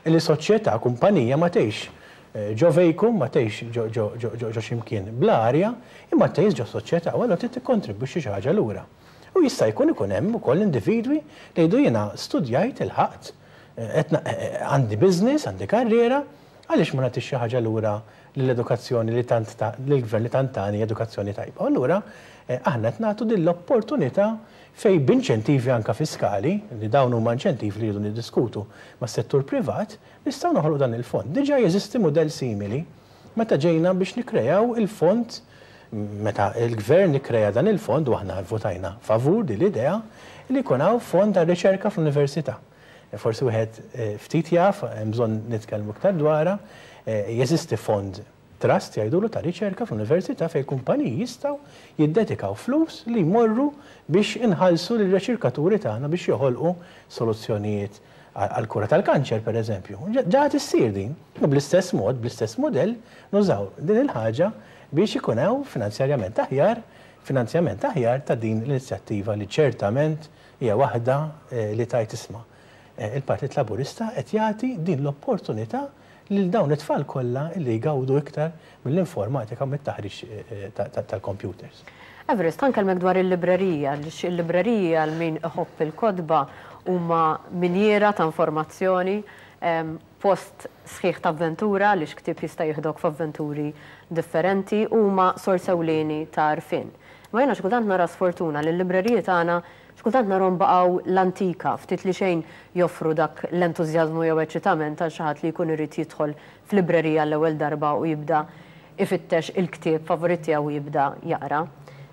li soċjetà, kumpanija ma tgħix eh, ġo vacuum, ma tgħix ġo ximkien bl-arja, imma tgħix ġo soċjetà, u allura trid tikkontribwixxi xi ħaġa lura. U jista' jkun ikun hemm ukoll individwi li jgħidu jiena studjajt il-ħaqt, eh, eh, għandi business, għandi karriera, għaliex ma nagħtix xi ħaġa lura l-edukazzjoni li tant l-gvern li tant tani edukazzjoni tajba? Allura aħna qed nagħtu din l-opportunità fej b'inċentivi anka fiskali, li dawn huma inċentivi li jridu niddiskutu mas-settur privat, nistgħu noħolqu dan il-fond. Diġà jeżisti mudell simili meta ġejna biex nikrejaw il-fond, meta il-gvern ikkreja dan il-fond u aħna votajna favur din l-idea li jkun hawn fond għal riċerka fl-università. Forsi wieħed eh, ftit jaf, hemm bżonn nitkellmu iktar dwarha, eh, jeżisti fond trust jgħidulu ta' riċerka fl-università fejn kumpaniji jistgħu jiddedikaw flus li jmorru biex inħallsu l-riċerkaturi tagħna biex joħolqu soluzzjonijiet għal-kura tal-kanċer, per eżempju. Ġa issir din, u bl-istess mod, bl-istess modell, nużaw din il-ħaġa biex ikun hawn finanzjarjament aħjar, finanzjament aħjar ta' din l-inizjattiva li ċertament hija waħda eh, li tajt isma'. Eh, il-Partit Laburista qed jagħti din l-opportunità lil dawn it-tfal kollha li jgawdu iktar mill-informatika u mit-taħriġ eh, tal-computers. Everest, ħa nkellmek dwar il-librerija, il-librerija għal min iħobb il-kotba huma minjera ta' informazzjoni. post sħiħ ta' avventura li ktieb jista' jieħdok f'avventuri differenti u huma sors ewlieni ta' għarfien. Ma jiena xi kultant nara sfortuna li l-libreriji tagħna xi kultant narhom baqgħu l-antika, ftit li xejn joffru dak l-entużjażmu jew eċitament għal xi ħadd li jkun irid jidħol f'librerija l-ewwel darba u jibda ifittex il-ktieb favorit tiegħu u jibda jaqra.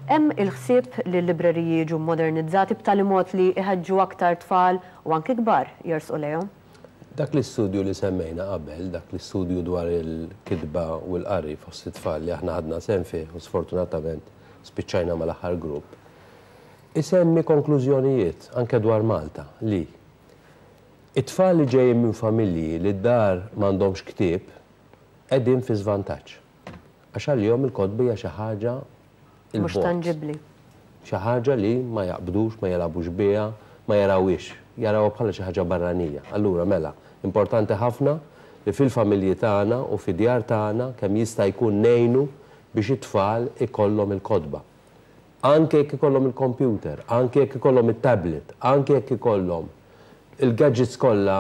Hemm il-ħsieb li l-libreriji jiġu modernizzati b'tali mod li iħeġġu aktar tfal u anki kbar jersqu lejhom? Dak l-istudju li semmejna qabel, dak l-istudju dwar il-kitba u l-qari fost it-tfal li aħna ħadna sehem fih u sfortunatament spiċċajna mal-aħħar grupp, isemmi konklużjonijiet anke dwar Malta li it-tfal li ġejjin minn familji li d-dar m'għandhomx ktieb qegħdin fi żvantaġġ. Għax għalihom il-kotba hija xi ħaġa mhux tanġibbli. Xi ħaġa li ma jaqbdux, ma jilagħbux biha, ma jarawhiex, jarawha bħala xi ħaġa barranija. Allura mela, importanti ħafna li fil-familji tagħna u fid-djar tagħna kemm jista' jkun ngħinu biex it-tfal ikollhom il-kotba. Anke jekk ikollhom il-computer, anke jekk ikollhom it-tablet, anke jekk ikollhom il-gadgets kollha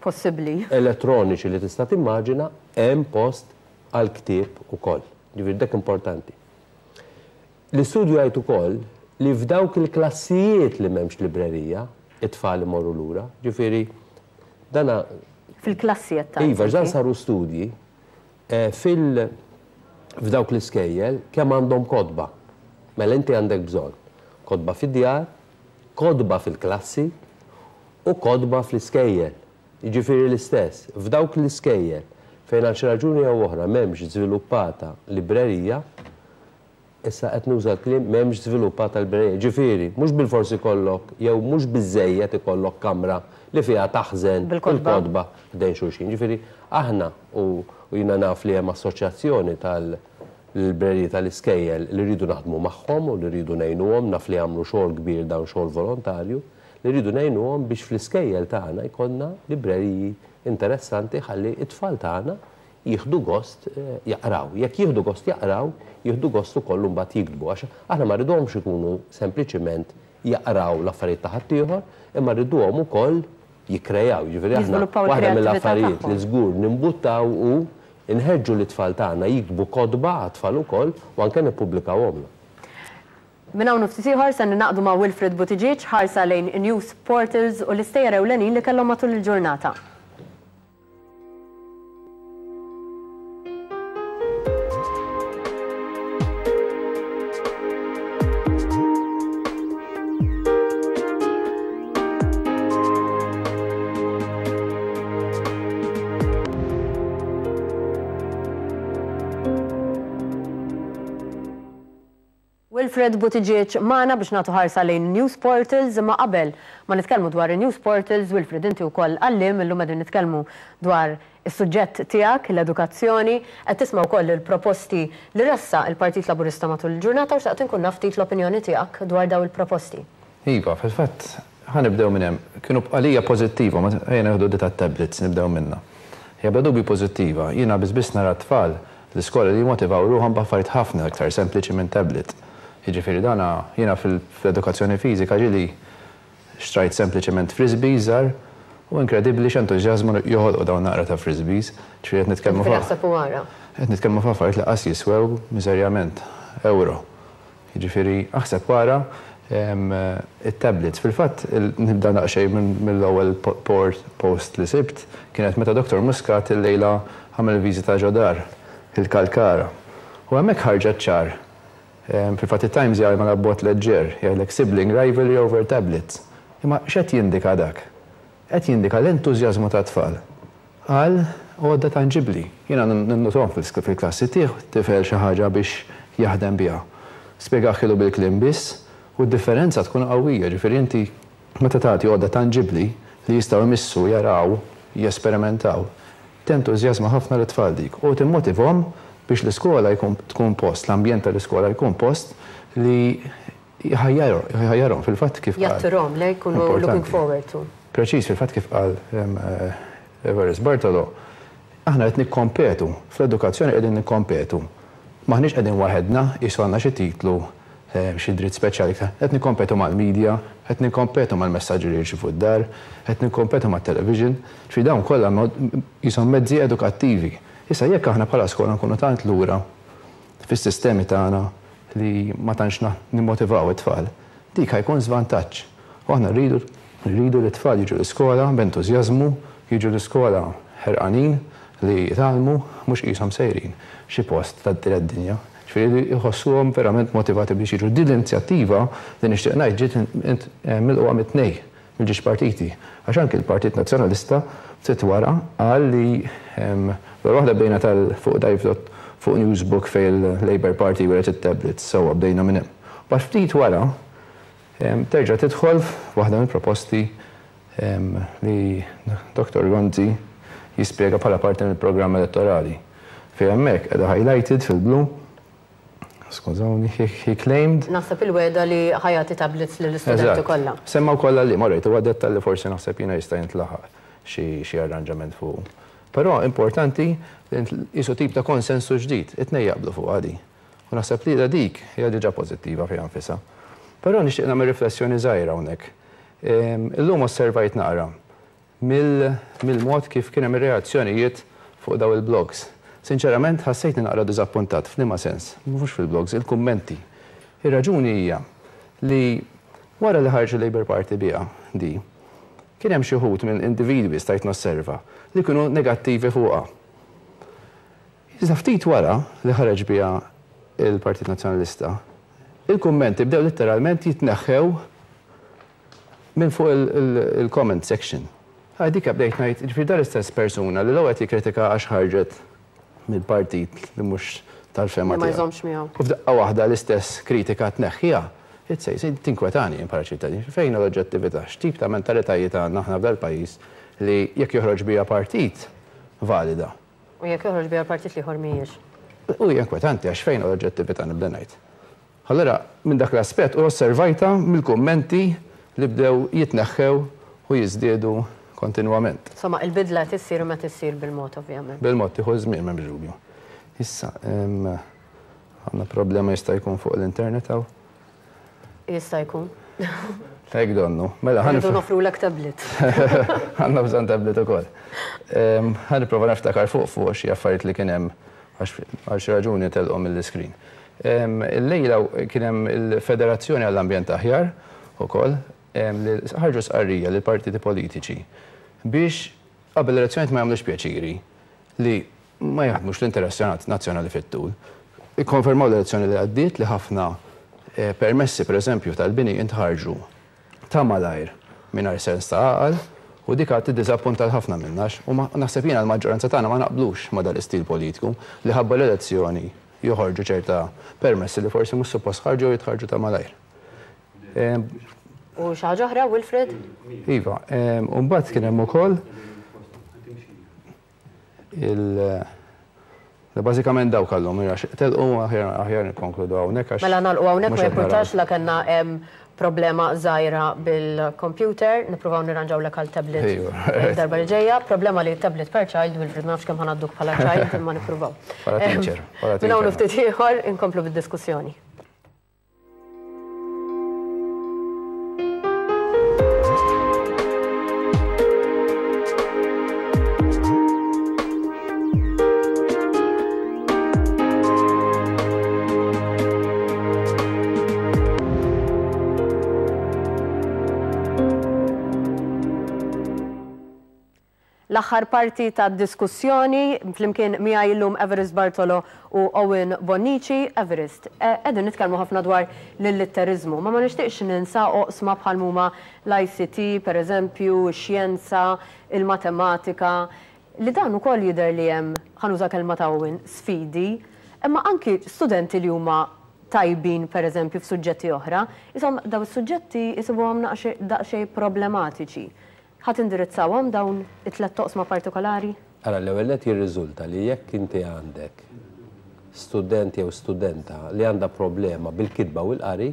possibbli elettroniċi li tista' timmaġina, hemm post għal ktieb ukoll. Ġifieri dak importanti. L-istudju jgħid ukoll li f'dawk il-klassijiet li m'hemmx librerija, it-tfal imorru lura, ġifieri dana fil-klassijiet ta' Iva, dan saru studji fil f'dawk l-iskejjel kemm għandhom kotba. Mela inti għandek bżonn kotba fid-djar, kotba fil-klassi u kotba fl-iskejjel. Jiġifieri l-istess, f'dawk l-iskejjel fejn għal xi raġuni jew oħra m'hemmx żviluppata librerija, issa qed nuża l-kliem m'hemmx żviluppata librerija. Ġifieri, mhux bilforsi ikollok jew mhux biżejjed ikollok kamra li fiha taħżen il-kotba ħdejn xulxin. Ġifieri aħna u jiena naf li hemm assoċjazzjoni tal-libreriji tal-iskejjel li rridu naħdmu magħhom u li rridu ngħinuhom, naf li jagħmlu xogħol kbir dawn xogħol volontarju, li rridu ngħinuhom biex fl-iskejjel tagħna jkollna libreriji interessanti ħalli it-tfal tagħna jieħdu gost jaqraw. Jekk jieħdu gost jaqraw, jieħdu gost ukoll imbagħad jiktbu għax aħna ma rridhomx ikunu sempliċiment jaqraw l-affarijiet ta' ħaddieħor, imma rriduhom ukoll jikkrejaw. Jiġifieri aħna waħda mill-affarijiet li żgur nimbuttaw u nħeġġu l-tfal tagħna jiktbu kotba għat-tfal ukoll u anke nippubblikawhom. Minn hawn ftit ieħor se ninaqdu ma' Wilfred Buttigieg ħarsa lejn news portals u l-istejjer ewlenin li kellhom matul il-ġurnata. Wilfred Buttigieg magħna biex nagħtu ħarsa lejn news portals, imma qabel ma nitkellmu dwar news portals, Wilfred inti wkoll għalliem, illum qegħdin nitkellmu dwar is-suġġett tiegħek, l-edukazzjoni, qed tisma' wkoll il-proposti li ressaq il-Partit Laburista matul il-ġurnata u xtaqt inkun naf ftit l-opinjoni tiegħek dwar dawn il-proposti. Iva, fil-fatt ħa nibdew minn hemm. Kienu għalija pożittiva, ma ejja nieħdu di tat-tablets nibdew minnha. Hija bla dubju pożittiva, jiena biss biss nara t-tfal l-iskola li jmotivaw ruħhom b'affarijiet ħafna aktar sempliċi minn tablet. Jiġifieri dana jiena fl-edukazzjoni fiżika ġieli xtrajt sempliċement frisbees żgħar u inkredibbli x'entużjażmu joħolqu dawn naqra ta' frisbees. Ġifieri qed nitkellmu qed nitkellmu f'affarijiet li qas jiswew miżerjament euro. Jiġifieri aħseb wara it-tablets. Fil-fatt nibda naqxej mill-ewwel post li sibt kienet meta Doktor Muscat illejla għamel viżita ġo dar il-Kalkara. U hemmhekk ħarġet ċar. Fil-fatt it-Times jgħid ma bot leġġer, jgħidlek sibling rivalry over tablets. Imma x'qed jindika dak? Qed jindika l-entużjażmu tat-tfal għal għodda tanġibbli. Jiena ninnotom fil-klassi tiegħu tifel xi ħaġa biex jaħdem biha. Spjegaħilu bil-kliem biss u d-differenza tkun qawwija, ġifieri inti meta tagħti għodda tanġibbli li jistgħu jmissu, jaraw, jesperimentaw, tentużjażma ħafna l-tfal dik u timmotivhom biex l-iskola jkun tkun post, l-ambjent tal-iskola jkun post li jħajjarhom fil-fatt kif qal. Jattirhom li jkunu looking forward to. Preċiż, fil-fatt kif qal Everest Bartolo, aħna qed nikkompetu, fl-edukazzjoni qegħdin nikkompetu. Maħniex qegħdin waħedna, qisu għandna xi titlu, xi dritt speċjali, qed nikkompetu mal-medja, Qed nikkompetu mal-messaġġi li jirċievu d-dar, qed nikkompetu mat-television, ġifieri dawn kollha jisom mezzi edukattivi. Issa jekk aħna bħala skola nkunu tant lura fis-sistemi tagħna li ma tantx nimmotivaw it-tfal, dik ħajkun żvantaġġ. U aħna rridu rridu li t-tfal jiġu l-iskola b'entużjażmu, jiġu l-iskola ħerqanin li jitgħallmu mhux qishom sejrin xi post tad-dinja dinja. Ġifieri jħossuhom verament motivati biex jiġu. Din l-inizjattiva li nixtieq ngħid ġiet milquha mit-tnej mill-ġiex partiti. Għax anke l-Partit Nazzjonalista ftit wara qal li l waħda bdejna tal fuq dive fuq Newsbook fejn il-Labour Party weret it-tablets, sewwa bdejna minn hemm. Bax ftit wara terġa' tidħol waħda mill-proposti li Dottor Gonzi jispjega bħala parti mill-programm elettorali. Fejn hemmhekk qiegħda highlighted fil-blu. Skużawni, he claimed. Naħseb il-weda li ħajati tablets lill-istudenti kollha. Semma wkoll li marrejt huwa dettal li forsi naħseb jiena jista' jintlaħaq xi arranġament fuq. Però importanti li jisu tip ta' konsensu ġdid, it-tnejn jaqblu fuq għadi. U naħseb li dik hija diġà pożittiva fiha nfisha. Però nixtieq nagħmel riflessjoni żgħira hawnhekk. Illum osservajt naqra mill-mod kif kien hemm ir-reazzjonijiet fuq daw il-blogs. Sinċerament ħassejtni naqra diżappuntat f'liema sens, mhux fil-blogs, il-kummenti. Ir-raġuni hija li wara li ħarġu Labour Party biha di, kien hemm xi wħud minn individwi stajt nosserva li kienu negattivi fuqha. Iżda ftit wara li ħareġ biha il-Partit Nazzjonalista, il-kummenti bdew letteralment jitneħħew minn fuq il-comment section. Dik bdejt ngħid, ġifieri dar istess persuna li l-ewwel qed jikkritika għax ħarġet mill-partit li mhux tal-fema tiegħu. Ma jżommx miegħu. U f'daqqa waħda l-istess kritika tneħħiha, itsej tinkwetani jien bħala ċittadin. Fejn l-oġġettività, x'tip ta' mentalitajiet għandna aħna f'dal-pajjiż li jekk joħroġ biha partit valida. U jekk joħroġ biha partit li ieħor mhijiex. U hija inkwetanti għax fejn l-oġġettività nibda ngħid. Allura minn dak l-aspett u osservajta mill-kummenti li bdew jitneħħew u jiżdiedu kontinwament. Insomma, il-bidla tissir u ma tissir bil-mod, ovvjament. Bil-mod, tieħu żmien, m'hemmx dubju. Issa, għandna problema jista' jkun fuq l-internet hawn? Jista' jkun. Hekk donnu. Mela ħa nofru nofrulek tablet. Għandna bżonn tablet ukoll. Ħa nipprova niftakar fuq fuq xi affarijiet li kien hemm għal xi raġuni telqu mill-iskrin. Illejla kien hemm il-Federazzjoni għall-Ambjent Aħjar ukoll li ħarġu sqarrija lill partiti politiċi biex qabel l-elezzjonijiet ma jagħmlux pjaċiri li ma jaħdmux l-interess nazzjonali fit-tul. Ikkonfermaw l-elezzjoni li għaddiet li ħafna permessi pereżempju tal-bini intħarġu ta' malajr mingħajr sens ta' għaqal u dik għad tiddiżappunta ħafna minnax u naħseb jiena l-maġġoranza tagħna ma naqblux ma' dal-istil politiku li ħabba l-elezzjoni joħorġu ċerta permessi li forsi mhux suppost ħarġu u jitħarġu ta' malajr. U xi ħaġa oħra, Wilfred? Iva, u mbagħad kien hemm ukoll il bażikament dawk kellhom telqu aħjar nikkonkludu hawnhekk għax. Mela nagħlqu hawnhekk ma jimpurtax la kellna problema żgħira bil-computer, nippruvaw nirranġawlek għal tablet darba li ġejja. Problema li tablet per child, Wilfred ma nafx kemm ħanadduk bħala child imma nippruvaw. Bħala teacher. Minn hawn ftit ieħor inkomplu bid-diskussjoni. L-aħħar parti ta' diskussjoni flimkien miegħi llum Everest Bartolo u Owen Bonnici. Everest, qegħdin nitkellmu ħafna dwar l-illitteriżmu, ma ma nixtieqx ninsa oqsma bħal huma l-I C T, pereżempju, ix-xjenza, il-matematika, li dan ukoll jidher li hemm, ħanuża kelma ta' Owen, sfidi, imma anki studenti li huma tajbin pereżempju f'suġġetti oħra, isom daw is-suġġetti isibuhom daqsxejn problematiċi. Ħadd indirizzawhom dawn it-tliet toqsma partikolari? Ara, l-ewwel nett jirriżulta li jekk inti għandek student jew studenta li għandha problema bil-kitba u l-qari,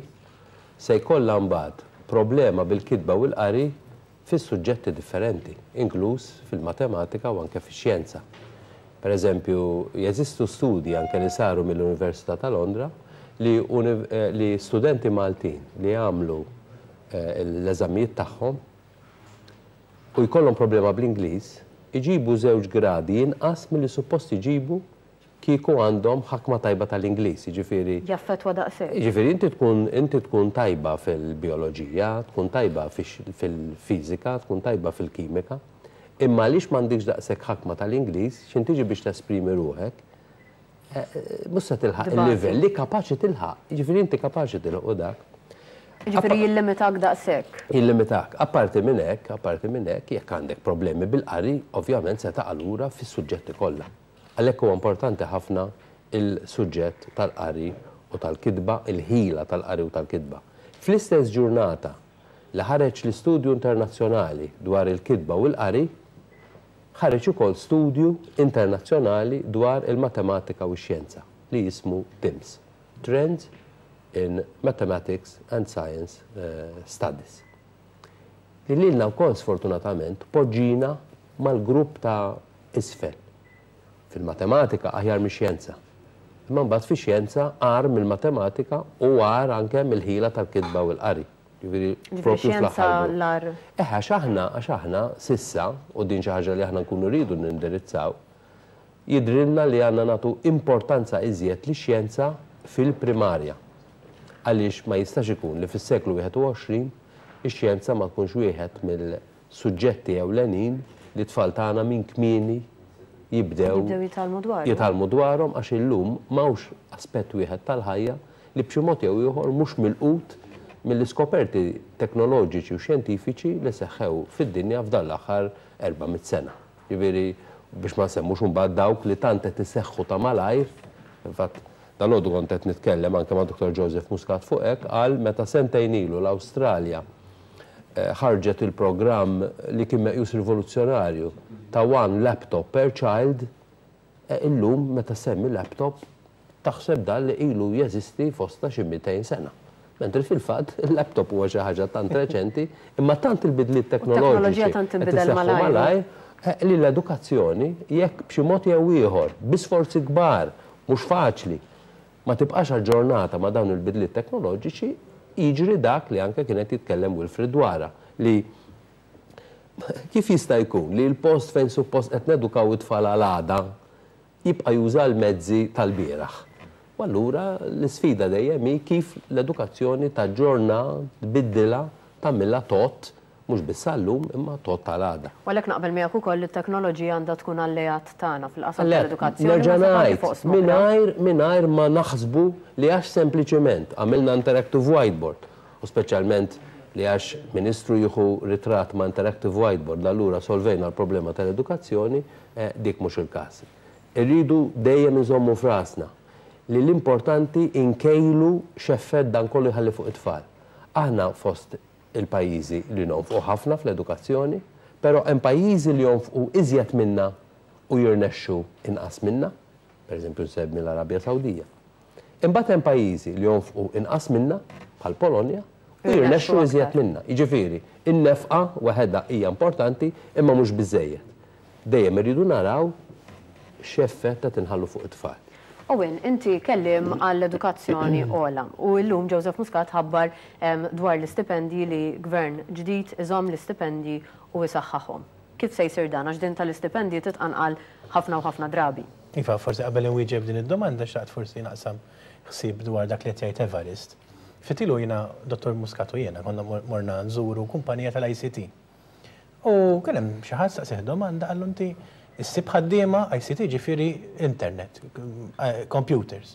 se jkollha mbagħad problema bil-kitba u l-qari fis-suġġetti differenti, inkluż fil-matematika u anke fix-xjenza. Per eżempju, jeżistu studji anke li saru mill-Università ta' Londra li, li studenti Maltin li għamlu l-eżamijiet tagħhom u jkollhom problema bl-Ingliż, iġibu żewġ gradi inqas milli suppost iġibu kieku għandhom ħakma tajba tal-Ingliż, jiġifieri. Jaffettwa daqshekk. Jiġifieri inti tkun inti tkun tajba fil-bioloġija, tkun tajba fil-fiżika, tkun tajba fil-kimika, imma għaliex m'għandikx daqshekk ħakma tal-Ingliż, x'in tiġi biex tesprimi ruħek, mhux se tilħaq il-livell li kapaċi tilħaq. Jiġifieri inti kapaċi tilħaq dak. Jiġifieri jillimitak daqshekk. Jillimitak. Apparti minn hekk, apparti minn hekk, jekk għandek problemi bil-qari, ovvjament se taqa' lura fis-suġġetti kollha. Għalhekk huwa importanti ħafna il-suġġett tal-qari u tal-kitba, il-ħila tal-qari u tal-kitba. Fl-istess ġurnata li ħareġ l-istudju internazzjonali dwar il-kitba u l-qari, ħareġ ukoll studju internazzjonali dwar il-matematika u x-xjenza li jismu TIMSS, Trends in Mathematics and Science Studies. Li lilna wkoll sfortunatament poġġina mal-grupp ta' isfel. Fil-matematika aħjar mix-xjenza. Imma mbagħad fix-xjenza agħar mill-matematika u agħar anke mill-ħila tal-kitba u l-qari. Jiġifieri propju fl-aħħar. Eh, għax aħna, għax aħna sissa, u din xi ħaġa li aħna nkunu rridu nindirizzaw, jidrilna li għandna nagħtu importanza iżjed lix-xjenza fil-primarja. Għaliex ma jistax ikun li fis-seklu wieħed u għoxrin ix-xjenza ma tkunx wieħed mill-suġġetti ewlenin li tfal tagħna minn kmieni jibdew jitgħallmu dwarhom, għax illum m'hawnx aspett wieħed tal-ħajja li b'xi mod jew ieħor mhux milqut mill-iskoperti teknoloġiċi u xjentifiċi li seħħew fid-dinja f'dan l-aħħar erba' mitt sena. Jiġifieri biex ma nsemmux imbagħad dawk li tant qed iseħħu ta' malajr, infatti dalgħodu kont qed nitkellem anke ma' Doktor Joseph Muscat fuq hekk, qal meta sentejn ilu l-Awstralja ħarġet il-programm li kien meqjus rivoluzzjonarju ta' one laptop per child, illum meta semmi laptop taħseb dan li ilu jeżisti fostna xi mitejn sena. Mentri fil-fatt il-laptop huwa xi ħaġa tant reċenti, imma tant il-bidliet teknoloġiċi tant inbidel malajr li l-edukazzjoni jekk b'xi mod jew ieħor bi sforzi kbar mhux faċli ma tibqax aġġornata ma' dawn il-bidliet teknoloġiċi, jiġri dak li anke kienet jitkellem Wilfred dwarha, li kif jista' jkun li l-post fejn suppost qed nedukaw it-tfal għal għada jibqa' juża l-mezzi tal-bieraħ. U allura l-isfida dejjem hi kif l-edukazzjoni taġġorna, tbiddilha, tagħmilha tot, mhux biss għallum imma tot tal-għada. U għalhekk naqbel miegħek ukoll li t-teknoloġija għandha tkun alleat tagħna fil-qasam tal-edukazzjoni. Nerġa' ngħid, mingħajr mingħajr ma naħsbu li għax sempliċement għamilna interactive whiteboard, u speċjalment li għax ministru jieħu ritratt ma' interactive whiteboard, allura solvejna l-problema tal-edukazzjoni, dik mhux il-każ. Irridu dejjem inżommu f'rasna li l-importanti inkejlu x'effett dan kollu jħalli fuq it-tfal. Aħna fost il-pajjiżi li nonfqu ħafna fl-edukazzjoni, però hemm pajjiżi li jonfqu iżjed minna u jirnexxu inqas minna, pereżempju nsemmi l-Arabja Sawdija. Imbagħad hemm pajjiżi li jonfqu inqas minna, bħal Polonja, u jirnexxu iżjed minna. Jiġifieri, in-nefqa waħedha hija importanti imma mhux biżejjed. Dejjem irridu naraw x'effett qed inħallu fuq it-tfal. Owen, inti kellim għall-edukazzjoni ola u llum Joseph Muscat ħabbar dwar l-istipendji li gvern ġdid iżomm l-istipendji u isaħħaħhom. Kif se jsir dan? Għax din tal-istipendji titqanqal ħafna u ħafna drabi. Iva, forsi qabel inwieġeb din id-domanda xtaqt forsi naqsam ħsieb dwar dak li qed jgħid Evarist. Fitilu jiena Dottor Muscat u jiena konna morna nżuru kumpanija tal-I C T. U kien hemm xi ħadd staqsih domanda qallu inti issib ħaddiema I C T ġifieri internet, computers.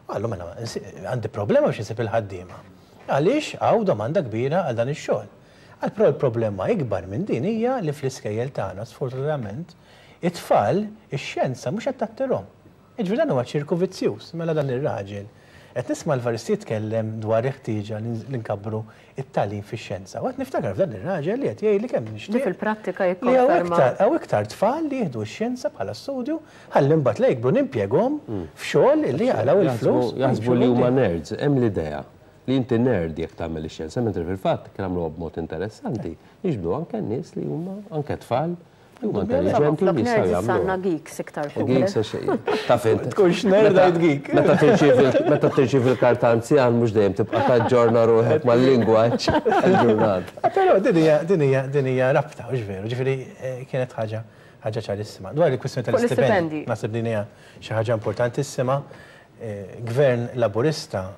Qallu mela għandi problema biex insib il-ħaddiema. Għaliex hawn domanda kbira għal dan ix-xogħol. Għal però l-problema ikbar minn din hija li fl-iskejjel tagħna sfortunatament it-tfal ix-xjenza mhux qed tattirhom. Jiġifieri dan huwa ċirku vizzjuż, mela dan ir-raġel qed nisma' l-Evarist jitkellem dwar il-ħtieġa li nkabbru it-tagħlim fix-xjenza. U qed niftakar f'dan ir-raġel li qed jgħidli kemm nixtieq. Li fil-prattika Li hawn jikkonferma. iktar, hawn iktar tfal li jieħdu x-xjenza bħala studju ħalli mbagħad la jikbru nimpjegahom f'xogħol li jaqalgħu il-flus. Jaħsbu li huma nerds, hemm l-idea li inti nerd jekk tagħmel ix-xjenza, mentri fil-fatt kien għamluha b'mod interessanti, jiġbdu anke nies li huma anke tfal Huma intelligenti jistgħu jagħmlu. Geeks iktar. Geeks għax taf int. Tkunx nerd għid geek. Meta tirċievi meta tirċievi l-karta anzjan mhux dejjem tibqa' taġġorna ruħek mal-lingwaġġ il-ġurnata. Però din hija din hija din hija rabta, hux veru, ġifieri kienet ħaġa ħaġa ċarissima. Dwar il-kwistjoni tal-istipendji, naħseb din hija xi ħaġa importantissima. Gvern Laburista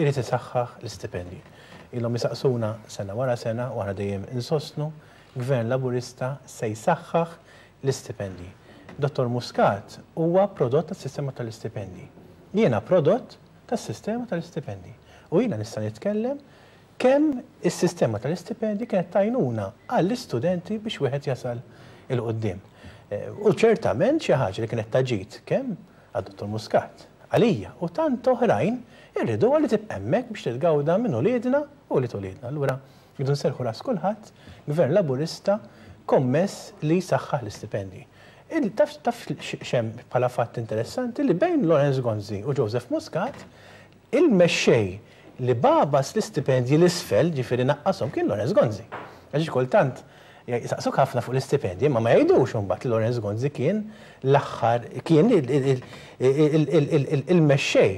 irid isaħħaħ l-istipendji. Ilhom jisaqsuna sena wara sena u aħna dejjem insostnu Gvern Laburista se jsaħħaħ l-istipendji. Dottor Muscat huwa prodott tas-sistema tal-istipendji. Jiena prodott tas-sistema tal-istipendji. U jiena nista' nitkellem kemm is-sistema tal-istipendji kienet tajnuna għall-istudenti biex wieħed jasal il-qudiem. U ċertament xi ħaġa li kienet taġit kemm għad-Dottor Muscat, għalija u tant oħrajn irridu li tibqa' hemmhekk biex titgawda minn uliedna u li uliedna. Allura jridu nserħu ras kulħadd, Gvern Laburista kommess li jsaħħaħ l-istipendji. Taf taf xem bħala fatt interessanti li bejn Lawrence Gonzi u Joseph Muscat il-mexxej li babas l-istipendji l-isfel, ġifieri naqqashom, kien Lawrence Gonzi. Għax kultant jisaqsuk ħafna fuq l-istipendji, ma ma jgħidux imbagħad li Lawrence Gonzi kien l-aħħar, kien il-mexxej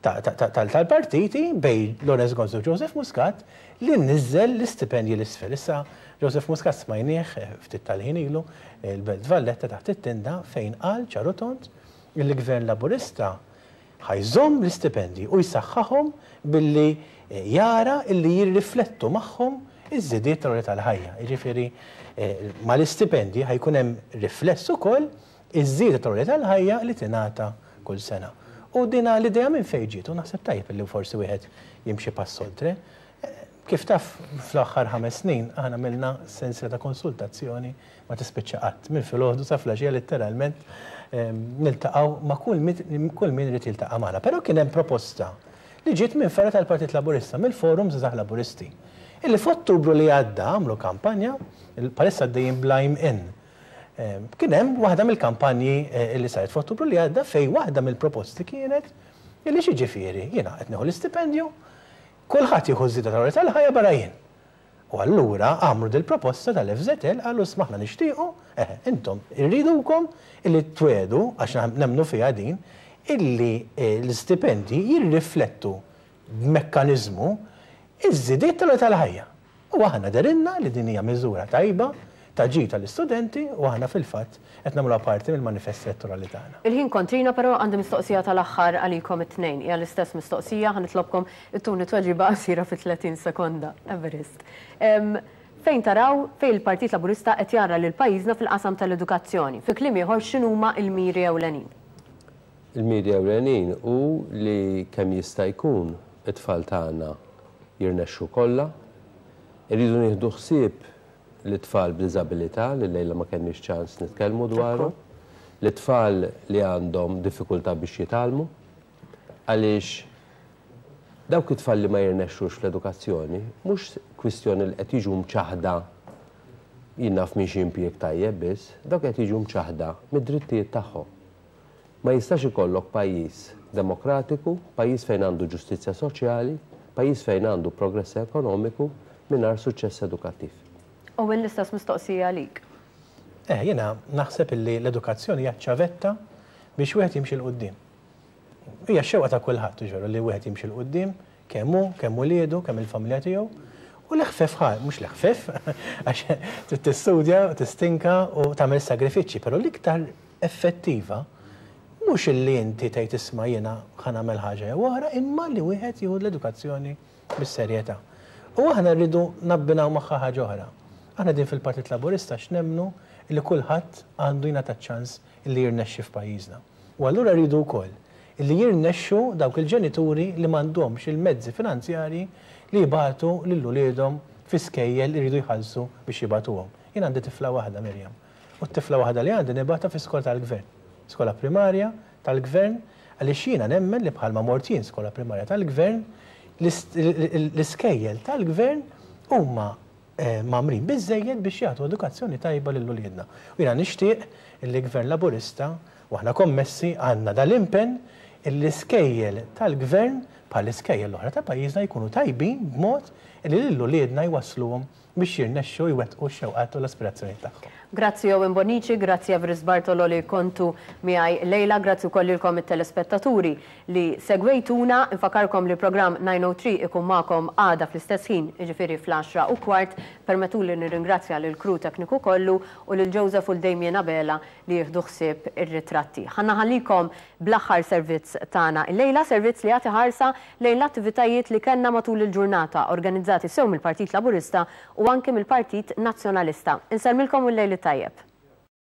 tal-partiti bej Lawrence Gonzi u Joseph Muscat li nizzel l-istipendji l-isfel. Issa Joseph Muscat smajnieh ftit tal-ħin ilu il-Belt Valletta taħt it-tinda fejn qal ċaru tond il-Gvern Laburista ħajżomm l-istipendji u jsaħħaħhom billi jara illi jirriflettu magħhom iż-żidiet tal-għoli tal-ħajja. Jiġifieri mal-istipendji ħajkun hemm rifless ukoll iż-żieda tal-għoli tal-ħajja li tingħata kull sena. U dina l-idea minn fejn ġiet, u naħseb tajjeb li forsi wieħed jimxi pass oltre. Kif taf fl-aħħar ħames snin aħna għamilna sensiela ta' konsultazzjoni ma tispiċċa qatt. Minn filgħodu sa flaxija letteralment niltaqgħu ma' kull min irid jiltaqa' magħna. Però kien hemm proposta li ġiet minn fergħa tal-Partit Laburista, mill-Forum Żgħażagħ Laburisti, illi f'Ottubru li għadda għamlu kampanja, palissa għaddejjin bl-I'm In. Kien hemm waħda mill-kampanji li saret f'Ottubru li għadda fejn waħda mill-proposti kienet illi xi ġifieri jiena qed nieħu l-istipendju, kulħadd jieħu żieda tal-għoli tal-ħajja barra jien. U allura għamlu dil-proposta tal-F Z L qalu smaħna nixtiequ, eh, intom irridukom illi twedu għax nemmnu fiha din illi l-istipendji jirriflettu b'mekkaniżmu iż-żidiet tal-għoli tal-ħajja. U aħna derinna li din hija miżura tajba ta' ġid tal-istudenti u aħna fil-fatt qed nagħmluha parti mill-manifest elettorali tagħna. Il-ħin kontrina però għandi mistoqsija tal-aħħar għalikom it-tnejn. Hija l-istess mistoqsija, ħa nitlobkom ittuni tweġiba qasira fi tletin sekonda. Everest. Fejn taraw fejn il-Partit Laburista qed jara lil pajjiżna fil-qasam tal-edukazzjoni? Fi kliem ieħor x'inhuma l-miri ewlenin? Il-miri ewlenin hu li kemm jista' jkun it-tfal tagħna jirnexxu kollha, irridu nieħdu ħsieb l-tfal b'diżabilità li lejla ma kenniex ċans nitkellmu dwarhom, l-tfal li għandhom diffikultà biex jitgħallmu, għaliex dawk it-tfal li ma jirnexxux fl-edukazzjoni mhux kwistjoni li qed jiġu mċaħda jien naf minn xi impjieg tajjeb biss, dawk qed jiġu mċaħda mid-drittijiet tagħhom. Ma jistax ikollok pajjiż demokratiku, pajjiż fejn għandu ġustizzja soċjali, pajjiż fejn għandu progress ekonomiku mingħajr suċċess edukattiv. Owen, l-istess mistoqsija għalik. Eh, jiena naħseb illi l-edukazzjoni hija ċavetta biex wieħed jimxi 'l quddiem. Hija x-xewqa ta' kulħadd, ġeru, li wieħed jimxi 'l quddiem, kemm hu, kemm uliedu, kemm il-familja tiegħu. U l-ħfef ħa, mhux l-ħfef, għax trid tistudja, tistinka u tagħmel sagrifiċċji, però l-iktar effettiva mhux illi inti tgħid isma' jiena ħa nagħmel ħaġa jew oħra, imma li wieħed jieħu l-edukazzjoni bis-serjetà. U aħna rridu nabbinaw magħha ħaġa oħra. Aħna din fil-Partit Laburista x'nemmnu li kulħadd għandu jingħata ċans li jirnexxi f'pajjiżna. U allura rridu wkoll li jirnexxu dawk il-ġenituri li m'għandhomx il-mezzi finanzjarji li jibgħatu lil uliedhom fi skejjel li jridu jħallsu biex jibgħatuhom. Jien għandi tifla waħda, Mirjam, u t-tifla waħda li għandi nibgħatha fi skola tal-gvern, skola primarja tal-gvern, għaliex jiena nemmen li bħalma mort jien skola primarja tal-gvern, l-iskejjel tal-gvern huma mamrin biżżejjed biex jagħtu edukazzjoni tajba lil uliedna. U jiena nixtieq li l-Gvern Laburista, u aħna kommessi għandna dal-impenn, l-iskejjel tal-gvern bħal iskejjel l-oħra ta' pajjiżna jkunu tajbin b'mod li lil uliedna jwassluhom Biex jirnexxu jwettqu x-xewqat u l-aspirazzjoni tagħhom. Grazzi Owen Bonnici, grazzi Evarist Bartolo li kontu miegħi lejla, grazzi wkoll lilkom it-telespettaturi li segwejtuna. Infakkarkom li programm nine oh three ikun magħkom għada fl-istess ħin, jiġifieri fl-għaxra u kwart. Permettuli nirringrazzja lil crew tekniku kollu u lil Joseph u l-Damien Abela li jieħdu ħsieb ir-ritratti. Ħa nħallikom bl-aħħar servizz tagħna illejla, servizz li jagħti ħarsa lejn l-attivitajiet li kellna matul il-ġurnata organizzati sew mill-Partit Laburista u anke mill-Partit Nazzjonalista. Insellmilkom u l-lejl tajjeb.